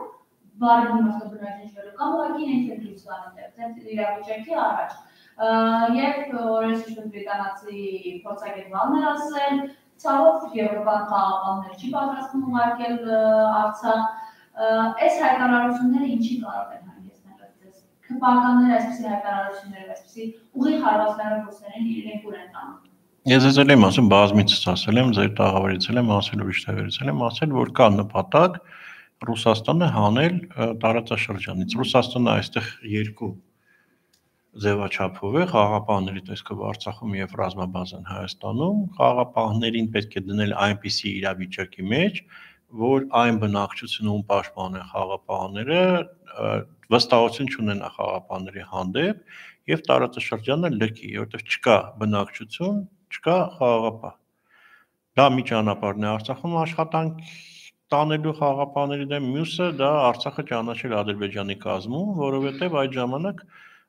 բարի իմաստով բնաջնջվելու, կամ ուղղակի իրենք են դուրս գան այնտեղ, այդ իրավիճակի առաջ։ Երբ օրենսդրություն բրիտանացի փորձագետ Վալներ ասել, ցավոք եվրոպական խաղապաններ չի պատրաստվում ուղարկել Արցախ, այս հայտարարությունները ինչի կարող են հանգեցնել այդպես։ Քպականները այսպիսի հայտարարությունները, այսպիսի ուղիղ հարվածներով ռուսերեն իրենք ուր են տանում։
Ես ես էլ եմ ասում, բազմիցս ասել եմ, ձեր տաղավարից էլ եմ ասել, ուրիշ տեղերից էլ եմ ասել, որ կա նպատակ Ռուսաստանը հանել տարածաշրջանից։ Ռուսաստանը այստեղ երկու ձևաչափով է, խաղաղապահների տեսքով Արցախում եւ ռազմաբազան Հայաստանում, խաղաղապահներին պետք է դնել այնպիսի իրավիճակի մեջ, որ այն բնակչությունում պաշտպանեն խաղաղապահները վստահություն չունենա խաղաղապահների հանդեպ եւ տարածաշրջանը լքի, որովհետեւ չկա բնակչություն, չկա խաղաղապահ։ Դա մի ճանապարհն է Արցախում աշխատանք տանելու խաղաղապահների դեմ, մյուսը դա Արցախը ճանաչել Ադրբեջանի կազմում, որովհետեւ այդ ժամանակ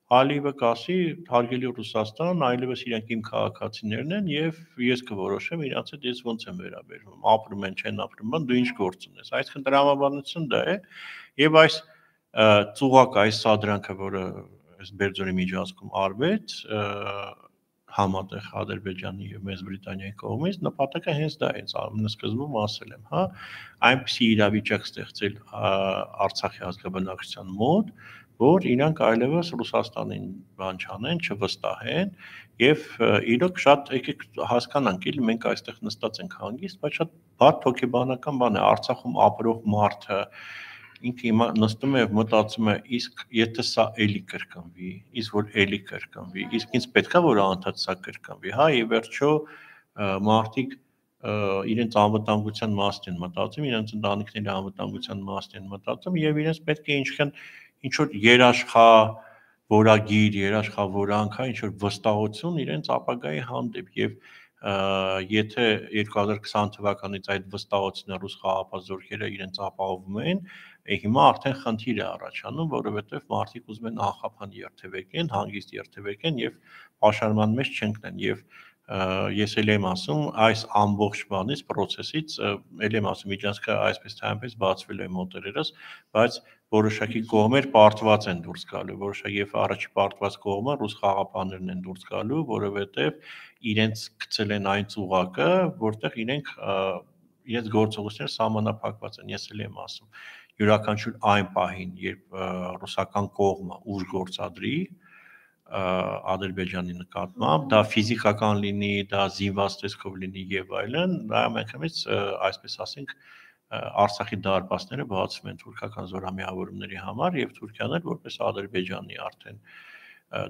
Ալիևը կասի հարգելի Ռուսաստան, այլևս իրենք իմ քաղաքացիներն են եւ ես կորոշեմ իրանց հետ ես ոնց եմ վերաբերվում, ապրում են, չեն ապրում, դու ինչ գործ ունես։ Այսինքն տրամաբանություն դա է եւ այս ծուղակ, այս սադրանքը, որը այս Բերձորի միջանցքում արվեց, համատեղ Ադրբեջանի եւ Մեծ Բրիտանիայի կողմից նպատակը հենց դա է, ամենասկզբում ասել եմ, հա, այնպիսի իրավիճակ ստեղծել Արցախի ազգաբնակչության մոտ, որ իրանք այլևս Ռուսաստանին բան չանեն, չվստահեն եւ իրոք շատ եկեք հասկանանք, էլի մենք այստեղ նստած ենք հանգիստ, բայց շատ բարդ հոգեբանական բան է Արցախում ապրող մարդը ինքը հիմա նստում է եւ մտածում է, իսկ եթե սա էլի կրկնվի, իսկ որ էլի կրկնվի, իսկ ինձ պետքա որ անդադ սա կրկնվի, հա, եւ վերջո մարդիկ իրենց անվտանգության մասին են մտածում, իրենց ընտանիքների անվտանգության մասին են մտածում եւ իրենց պետք է ինչքան ինչ որ երաշխա որագիր, երաշխավորանք, հա, ինչ որ վստահություն իրենց ապագայի հանդեպ եւ եթե երկու հազար քսան թվականից այդ վստահությունը ռուս խաղաղապահ զորքերը իրենց ապահովում են, հիմա արդեն խնդիր է առաջանում, որովհետեւ մարդիկ ուզում են անխափան երթևեկեն, հանգիստ երթևեկեն եւ պաշարման մեջ չընկնեն եւ ես էլ եմ ասում, այս ամբողջ բանից, process-ից, էլ եմ ասում, միջանցքը այսպես թե այնպես բացվել է մոտերերս, բայց որոշակի կողմեր պարտված են դուրս գալու, որոշակի եւ առաջի պարտված կողմը ռուս խաղաղապահներն են դուրս գալու, որովհետեւ իրենց գցել են այն ծուղակը, որտեղ իրենք իրենց գործողությունները սահմանափակված են, ես էլ եմ ասում, յուրաքանչյուր այն պահին, երբ ռուսական կողմը ուժ գործադրի Ադրբեջանի նկատմամբ, դա ֆիզիկական լինի, դա զինված տեսքով լինի եւ այլն, դա ամենքանից այսպես ասենք Արցախի դարպասները բացվում են թուրքական զորամիավորումների համար եւ Թուրքիան էլ որպես Ադրբեջանի արդեն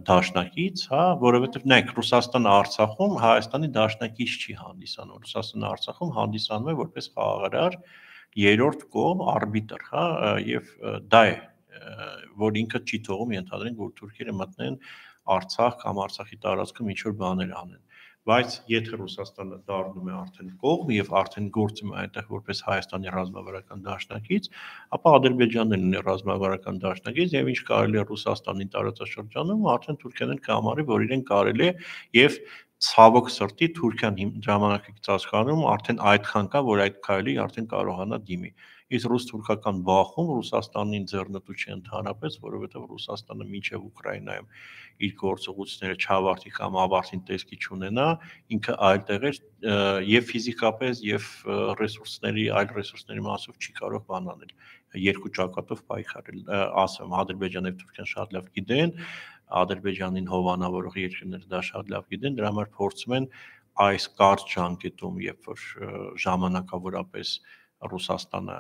դաշնակից, հա, որովհետեւ նայեք Ռուսաստանը Արցախում Հայաստանի դաշնակից չի հանդիսանում, Ռուսաստանը Արցախում հանդիսանում է որպես խաղաղարար երրորդ կողմ արբիտր, հա, եւ դա է որ ինքը չի թողում ենթադրենք որ թուրքերը մտնեն Արցախ կամ Արցախի տարածքում ինչ որ բաներ անեն բայց եթե Ռուսաստանը դառնում է արդեն կողմ եւ արդեն գործում է այնտեղ որպես Հայաստանի ռազմավարական դաշնակից, ապա Ադրբեջանն ունի ռազմավարական դաշնակից եւ ինչ կարելի է Ռուսաստանի տարածաշրջանում արդեն Թուրքիան կհամարի որ իրեն կարելի է եւ ցավոք սրտի Թուրքիան ժամանակակից աշխարհում արդեն այդքան կա որ այդ քայլի արդեն կարողանա դիմի իսկ ռուս-թուրքական բախում Ռուսաստանին ձեռնտու չի ընդհանրապես, որովհետև Ռուսաստանը մինչև Ուկրաինայում իր գործողությունները չավարտի կամ ավարտին տեսքի չունենա, ինքը այլ տեղեր եւ ֆիզիկապես եւ ռեսուրսների, այլ ռեսուրսների մասով չի կարող բան անել, երկու ճակատով պայքարել, ասեմ, Ադրբեջանը եւ Թուրքիան շատ լավ գիտեն, Ադրբեջանին հովանավորող երկրները դա շատ լավ գիտեն, դրա համար փորձում են այս կարճ ժամկետում, երբ որ ժամանակավորապես Ռուսաստանը,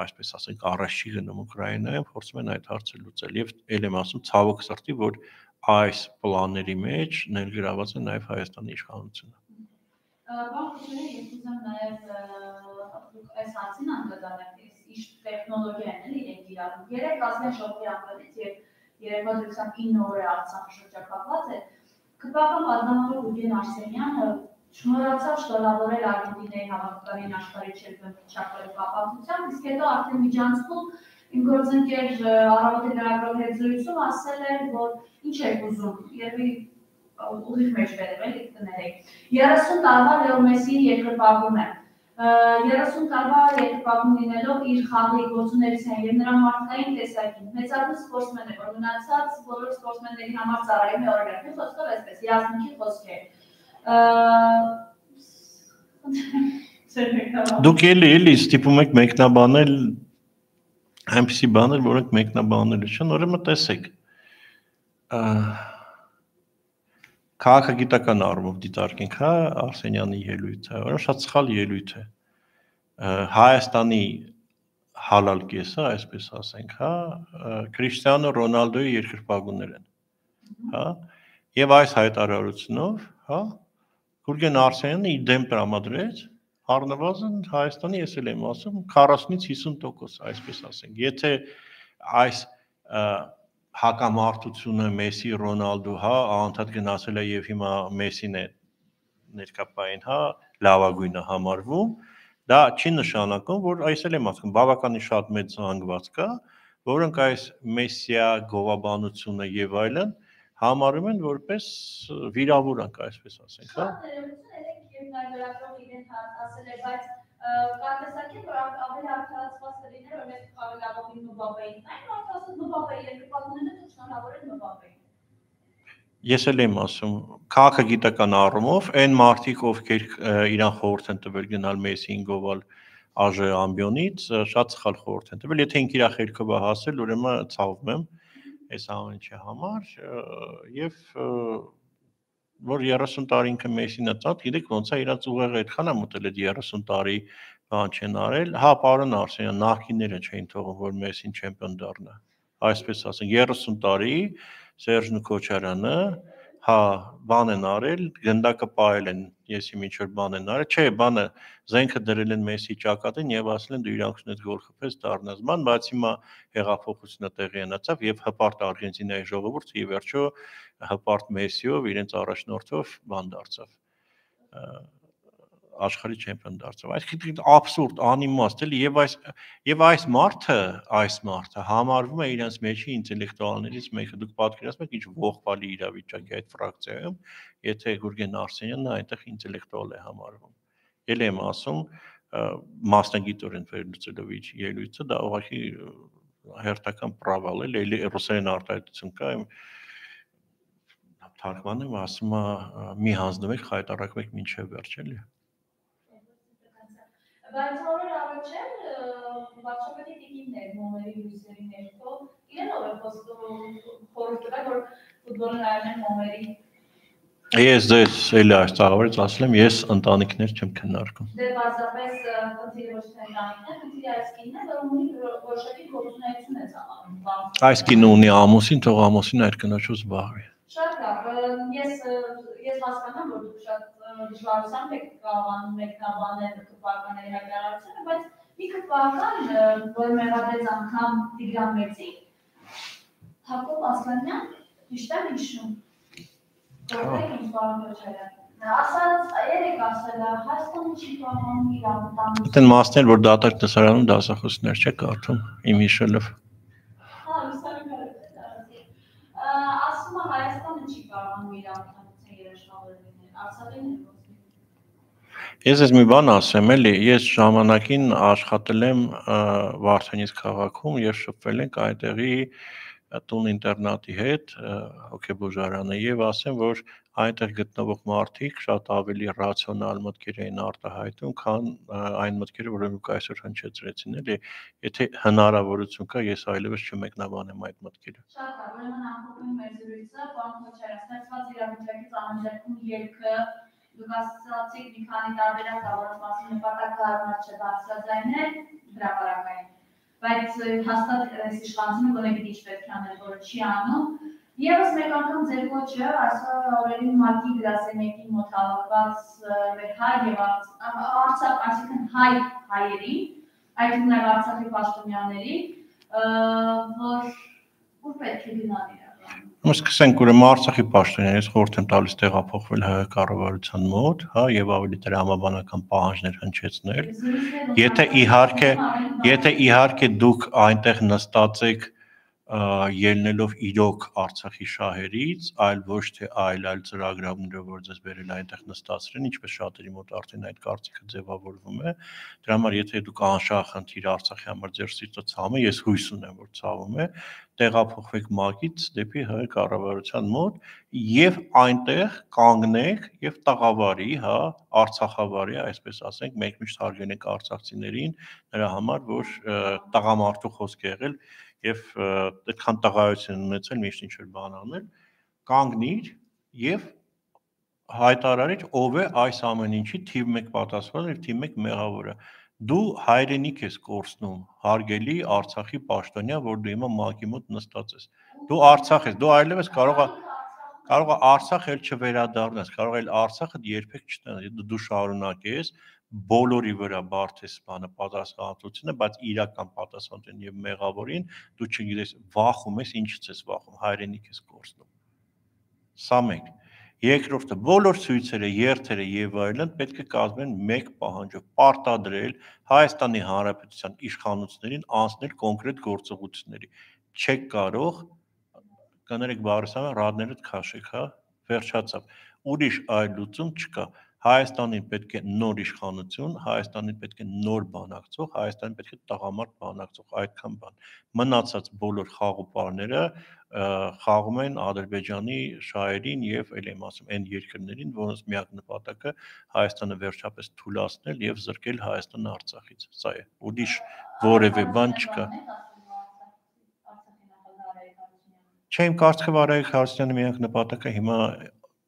այսպես ասենք, առաջ չի գնում Ուկրաինայում, փորձում են այդ հարցը լուծել եւ ել եմ ասում ցավոք սրտի, որ այս պլանների մեջ ներգրաված է նաեւ Հայաստանի իշխանությունը։
Բաղկացուները ես ուզեմ նաեւ այս հարցին անդրադառնալ, ինչ տեխնոլոգիան են իրենք իրարու։ Երեք ազգային ժողովի անդրադից եւ երեկվա դրությամբ ինը օր է Արցախը շրջապատված է։ Քպական պատգամավոր Ուգեն Արսենյանը շնորհացավ շնորհավորել Արգենտինայի հավաքականին աշխարհի չեմպիոնատի կապակցությամբ, իսկ հետո արդեն միջանցքում իմ գործընկեր Առավոտի լրագրողի հետ զրույցում ասել էր, որ ինչ եք ուզում, երևի ուղիղ մեջ վերել էլի կներեք։ երեսուն տարվա Լեո Մեսսիի երկրպագուն է։ երեսուն տարվա երկրպագուն լինելով իր խաղի գործունեության եւ նրա մարդկային տեսակին մեծարգո սպորտսմեն է, որ մնացած բոլոր սպորտսմենների համար ծառայում է օրինակ, մի խոսքով այսպես յազմունքի խոսքեր։
Դուք էլի էլի ստիպում եք մեկնաբանել այնպիսի բաներ, որոնք մեկնաբանելու չեն, ուրեմն տեսեք։ Քաղաքագիտական առումով դիտարկենք, հա, Արսենյանի ելույթը, ուրեմն շատ սխալ ելույթ է։ Հայաստանի հալալ կեսը, այսպես ասենք, հա, Քրիշտիանո Ռոնալդոյի երկրպագուներ են, հա, եւ այս հայտարարությունով, հա, Գուրգեն Արսենյանը իր դեմ տրամադրեց առնվազն Հայաստանի, ես էլ եմ ասում, քառասունից հիսուն տոկոս, այսպես ասենք, եթե այս հակամարտությունը Մեսսի, Ռոնալդո, հա, անդադ գնացել է եւ հիմա Մեսսին է ներկապային, հա, լավագույնը համարվում, դա չի նշանակում, որ այս էլ եմ ասում, բավականին շատ մեծ զանգված կա, որոնք այս Մեսսիա գովաբանությունը եւ այլն համարում են որպես վիրավորանք, այսպես ասենք, հա։
Կարծեսակի, որ ավելի արդարացված կլիներ, որ մենք խաղալավողին Մբապեին, այն արդարացած Մբապեի երկրպագուները շնորհավորել Մբապեին։
Ես էլ եմ ասում, քաղաքագիտական առումով այն մարդիկ, ովքեր իրան խորհուրդ են տվել գնալ Մեսսիին գովալ ԱԺ ամբիոնից, շատ սխալ խորհուրդ են տվել, եթե ինքը իր խելքով է հասել, ուրեմն ցավում եմ այս ամեն ինչի համար եւ որ երեսուն տարի ինքը Մեսսին է ծած, գիտեք ոնց է իրանց ուղեղը այդքան է մտել այդ երեսուն տարի բան չեն արել, հա, պարոն Արսենյան, նախկինները չէին թողում, որ Մեսսին չեմպիոն դառնա, այսպես ասենք, երեսուն տարի Սերժն ու Քոչարյանը, հա, բան են արել, գնդակը պահել են, եսի ինչ որ բան են արել, չէ, բանը զենքը դրել են Մեսսի ճակատին եւ ասել են դու իրանքությունից գոլ խփես դառնաս, ման, բայց հիմա հեղափոխությունը տեղի ունեցավ եւ հպարտ Արգենտինայի ժողովուրդը ի վերջո հպարտ Մեսսիով իրենց առաջնորդով բան դարձավ աշխարհի չեմպիոն դարձավ։ Այսինքն աբսուրդ, անիմաստ էլի եւ այս եւ այս մարդը, այս մարդը համարվում է իրենց մեջի ինտելեկտուալներից մեկը։ Դուք պատկերացնում եք ինչ ողբալի իրավիճակի այդ ֆրակցիայում, եթե Գուրգեն Արսենյանը այնտեղ ինտելեկտուալ է համարվում։ Ել եմ ասում, մասնագիտորեն վերլուծելով իր ելույթը, դա ուղղակի հերթական պրավալ է, էլի ռուսերեն արտահայտություն կա, թարգմանում ասում է մի հանձնվեք, խայտարակվեք մինչև վերջ, էլի։
Բայց օրեր առաջ էլ վարչապետի տիկիններ մոմերի լույսերի ներքո իրենով է խորհուրդ տվել, որ ֆուտբոլը նայում են մոմերի։
Ես ձեզ էլի այս ծաղավարից ասել եմ, ես ընտանիքներ չեմ քննարկում։
Դե պարզապես խնդիրը ոչ թե ընտանիքն է, խնդիրը այս կինն է, որ ունի որոշակի գործունեություն է ծավալում։
Այս կինը ունի ամուսին, թող ամուսինը այդ կնոջով զբաղվի։
Շատ լավ, ես ես հասկանամ, որ դուք շատ դժվարությամբ եք կարողանում մեկնաբանել քրվականների հայտարարությունը, բայց մի քրվական, որ մեղադրեց անգամ Տիգրան Մեծին, Հակոբ Ասլանյան, ճիշտ եմ հիշում, որտեղ ինչ պարոն Քոչարյան, ասած երեք ասել է, Հայաստանը չի կարողանում իր անվտանգությունը։
Այդտեն մասն էլ, որ դատարկ տեսարանում դասախոսներ չեք կարդում, իմ հիշելով։
Հա, լուսանկարել է դարձի։ Ասում է Հայաստանը չի կարողանում իր անվտանգության երաշխավորել լինել, Արցախին է ոչ։
Ես ես մի բան ասեմ, էլի, ես ժամանակին աշխատել եմ Վարդենիս քաղաքում եւ շփվել ենք այդտեղի տուն ինտերնատի հետ, հոգեբուժարանը, եւ ասեմ, որ այնտեղ գտնվող մարդիկ շատ ավելի ռացիոնալ մտքեր էին արտահայտում, քան այն մտքերը, որոնք դուք այսօր հնչեցրեցին, էլի, եթե հնարավորություն կա, ես այլևս չմեկնաբանեմ այդ մտքերը։
Շատ լավ, ուրեմն ամփոփում մեր զրույցը, պարոն Քոչարյան, ստեղծված իրավիճակից անհրաժեշտում ելքը դուք ասացիք մի քանի տարբերակ կա, որոնց մասին նպատակը առնած չէ բարձրաձայնել հրապարակային, բայց հաստատ այս իշխանությունը գոնե գիտի ինչ պետք է անել, որը չի անում։ Եվս մեկ անգամ ձեր ոչը այսօր օրերին ՄԱԿ-ի գրասենյակի մոտ հավաքված մեր հայ եւ Արցախ, այսինքն հայ հայերին, այդ թվում նաեւ Արցախի պաշտոնյաների, որ ուր պետք է գնալ իրականում։
Ուրեմն սկսենք ուրեմն Արցախի պաշտոնյանից խորհուրդ եմ տալիս տեղափոխվել ՀՀ կառավարության մոտ, հա, եւ ավելի տրամաբանական պահանջներ հնչեցնել։ Եթե իհարկե, եթե իհարկե դուք այնտեղ նստած եք ելնելով իրոք Արցախի շահերից, այլ ոչ թե այլ այլ ծրագրավորումներով, որ ձեզ բերել այնտեղ նստացրին, ինչպես շատերի մոտ արդեն այդ կարծիքը ձևավորվում է։ Դրա համար եթե դուք անշահախնդիր Արցախի համար ձեր սիրտը ցավում է, ես հույս ունեմ, որ ցավում է, տեղափոխվեք ՄԱԿ-ից դեպի ՀՀ կառավարության մոտ եւ այնտեղ կանգնեք եւ տաղավարի, հա, Արցախավարի, այսպես ասենք, մեկ միշտ հարգենք արցախցիներին, նրա համար, որ տղամարդու խոսք է եղել եւ այդքան տղայություն ունեցել միշտ ինչ որ բան անել, կանգնիր եւ հայտարարիր ով է այս ամեն ինչի թիվ մեկ պատասխանը եւ թիվ մեկ մեղավորը։ Դու հայրենիք ես կորցնում, հարգելի Արցախի պաշտոնյա, որ դու հիմա ՄԱԿ-ի մոտ նստած ես։ Դու Արցախ ես, դու այլևս կարող ես կարող է Արցախ էլ չվերադառնաս, կարող է Արցախը երբեք չտանաս, դու շարունակես բոլորի վրա բարթես բանը պատասխանատվությունը, բայց իրական պատասխանատվություն եւ մեղավորին դու չգիտես, վախում ես, ինչից ես վախում, հայրենիք ես կորցնում։ Սա մեկ։ Երկրորդը, բոլոր ցույցերը, երթերը եւ այլն պետք է կազմեն մեկ պահանջով՝ պարտադրել Հայաստանի Հանրապետության իշխանություններին անցնել կոնկրետ գործողությունների։ Չեք կարող կներեք Բարսամը ռադներդ քաշեք, հա, վերջացավ։ Ուրիշ այլ լուծում չկա։ Հայաստանին պետք է նոր իշխանություն, Հայաստանին պետք է նոր բանակցող, Հայաստանին պետք է տղամարդ բանակցող, այդքան բան։ Մնացած բոլոր խաղոպարները խաղում են Ադրբեջանի շահերին եւ ել եմ ասում այն երկրներին, որոնց միակ նպատակը Հայաստանը վերջապես թուլացնել եւ զրկել Հայաստանը Արցախից։ Սա է։ Ուրիշ որևէ բան չկա։ Չէ, իմ կարծիքով Արայիկ Հարությունյանի միակ նպատակը հիմա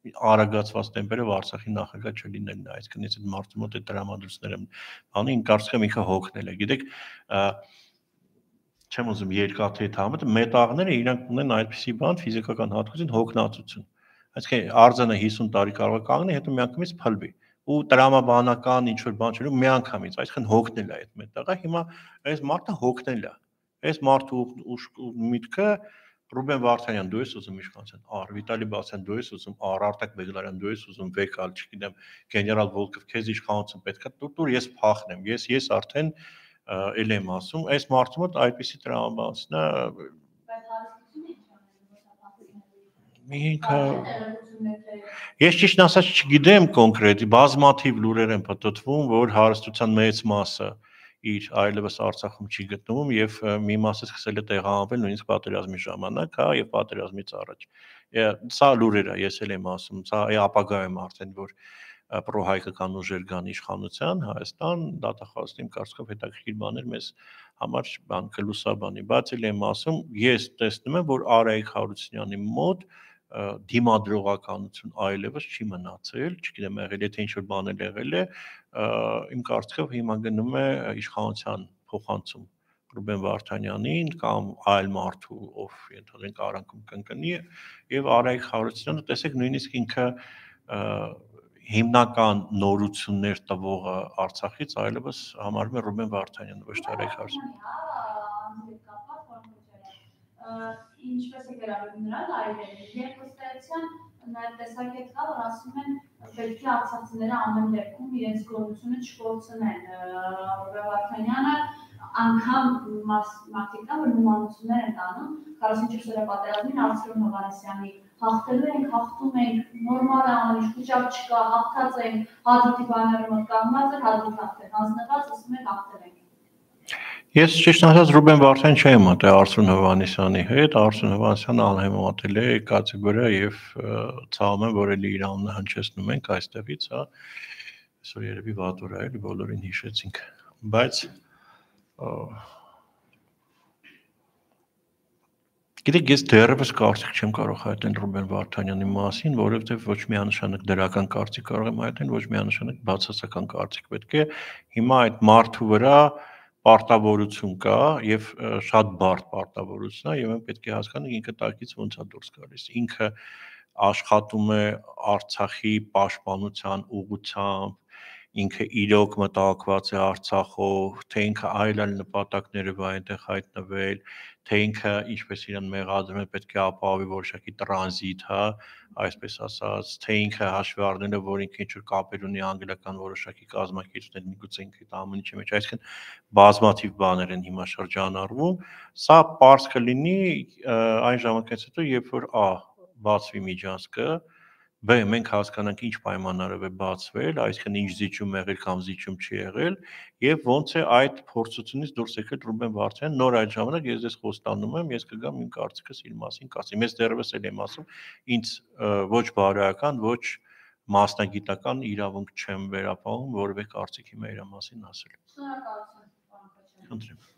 արագացված տեմպերով Արցախի նախագահ չլինելն է, այսինքն ես այդ մարդու մոտ այդ դրամատուրգները բանի իմ կարծիքով ինքը հոգնել է, գիտեք, չեմ ուզում երկաթի համը, մետաղները իրանք ունեն այդպիսի բան ֆիզիկական հատկություն հոգնածություն, այսինքն արձանը հիսուն տարի կարող է կանգնի, հետո միանգամից փլվի ու տրամաբանական ինչ որ բան չլու միանգամից, այսինքն հոգնել է այդ մետաղը, հիմա այս մարդը հոգնել է, այս մարդու միտքը Ռուբեն Վարդանյան, դու ես ուզում իշխանության, առ Վիտալի Բասյան, դու ես ուզում, առ Արտակ Բեգլարյան, դու ես ուզում, Վեկալ, չգիտեմ, գեներալ Վոլկով, քեզ իշխանություն պետք է տուր, ես փախնեմ, ես ես արդեն ել եմ ասում, այս մարդու մոտ այդպիսի տրամաբանությունն է ինքը ես ճիշտ ասած չգիտեմ կոնկրետ, բազմաթիվ լուրեր են պատտվում, որ հարստության մեծ մասը իր այլևս Արցախում չի գտնվում եւ մի մասը սկսել է տեղահանվել նույնիսկ պատերազմի ժամանակ, հա, եւ պատերազմից առաջ։ Սա լուրեր է, ես էլ եմ ասում, սա է ապագայում արդեն որ պրոհայկական ուժեր կան իշխանության, Հայաստան, դատախազին կարծիքով հետաքրքիր բաներ մեզ համար բան կլուսաբանի, բայց էլ եմ ասում, ես տեսնում եմ, որ Արայիկ Հարությունյանի մոտ դիմադրողականություն այլևս չի մնացել, չգիտեմ, եղել եթե ինչ-որ բան էլ եղել է, իմ կարծիքով հիմա գնում է իշխանության փոխանցում Ռուբեն Վարդանյանին կամ այլ մարդու, ով ենթադրենք արանքում կընկնի եւ Արայիկ Հարությունյանը, տեսեք, նույնիսկ ինքը հիմնական նորություններ տվողը Արցախից այլևս համարվում է Ռուբեն Վարդանյանը, ոչ թե Արայիկ Հարությունյանը։
Ինչպես է գրավում նրան այլևս, երբ ըստեյության նաև տեսակետ կա, որ ասում են պետք է արցախցիները ամեն դեպքում իրենց գոյությունը չկորցնեն, Ռուբեն Վարդանյանը անգամ մարդիկ կա, որ նմանություններ են տանում, քառասունչորս պատերազմին Արծրուն Հովհաննիսյանի հաղթելու ենք, հաղթում ենք, նորմալ է ամեն ինչ, խուճապ չկա, հաղթած ենք, Հադրութի բանակի մոտ կանգնած էր, Հադրութ հաղթել, հանձնված, ասում են հաղթել ենք։
Ես ճիշտ ասած Ռուբեն Վարդանյան չեմ մտել Արծրուն Հովհաննիսյանի հետ, Արծրուն Հովհաննիսյանը անհեմատել է կացի վրա եւ ցավում եմ, որ էլի իր անունը հնչեցնում ենք այստեղից, հա, այսօր երևի վատ օր է, էլի բոլորին հիշեցինք, բայց գիտեք, ես դեռևս կարծիք չեմ կարող հայտնել Ռուբեն Վարդանյանի մասին, որովհետեւ ոչ միանշանակ դրական կարծիք կարող եմ հայտնել, ոչ միանշանակ բացասական կարծիք պետք է հիմա այդ մարդու վրա պարտավորություն կա եւ շատ բարդ պարտավորություն է եւ մենք պետք է հասկանանք ինքը տակից ոնց է դուրս գալիս, ինքը աշխատում է Արցախի պաշտպանության ուղղությամբ, ինքը իրոք մտահոգված է Արցախով, թե ինքը այլ այլ նպատակներ է այնտեղ հայտնվել, թե ինքը ինչպես իրան մեղադրում է պետք է ապահովի որոշակի տրանզիտ, հա, այսպես ասած, թե ինքը հաշվի առնելով, որ ինքը ինչ-որ կապեր ունի անգլիական որոշակի կազմակերպություններ, միգուցե ինքը դա ամեն ինչի մեջ, այսինքն բազմաթիվ բաներ են հիմա շրջանառվում, սա պարզ կլինի այն ժամանակից հետո, երբ որ ա բացվի միջանցքը, B մենք հասկանանք ինչ պայմաններով է բացվել, այսինքն ինչ զիջում եղել կամ զիջում չի եղել, եւ ոնց է այդ փորձությունից դուրս եկել Ռուբեն Վարդանյանը, նոր այդ ժամանակ ես ձեզ խոստանում եմ, ես կգամ իմ կարծիքս իր մասին կասեմ։ Ես դեռևս էլ եմ ասում, ինձ ոչ բարոյական, ոչ մասնագիտական իրավունք չեմ վերապահում որևէ կարծիք հիմա իր մասին ասել։
Շնորհակալություն, պարոն Քոչարյան։
Խնդրեմ։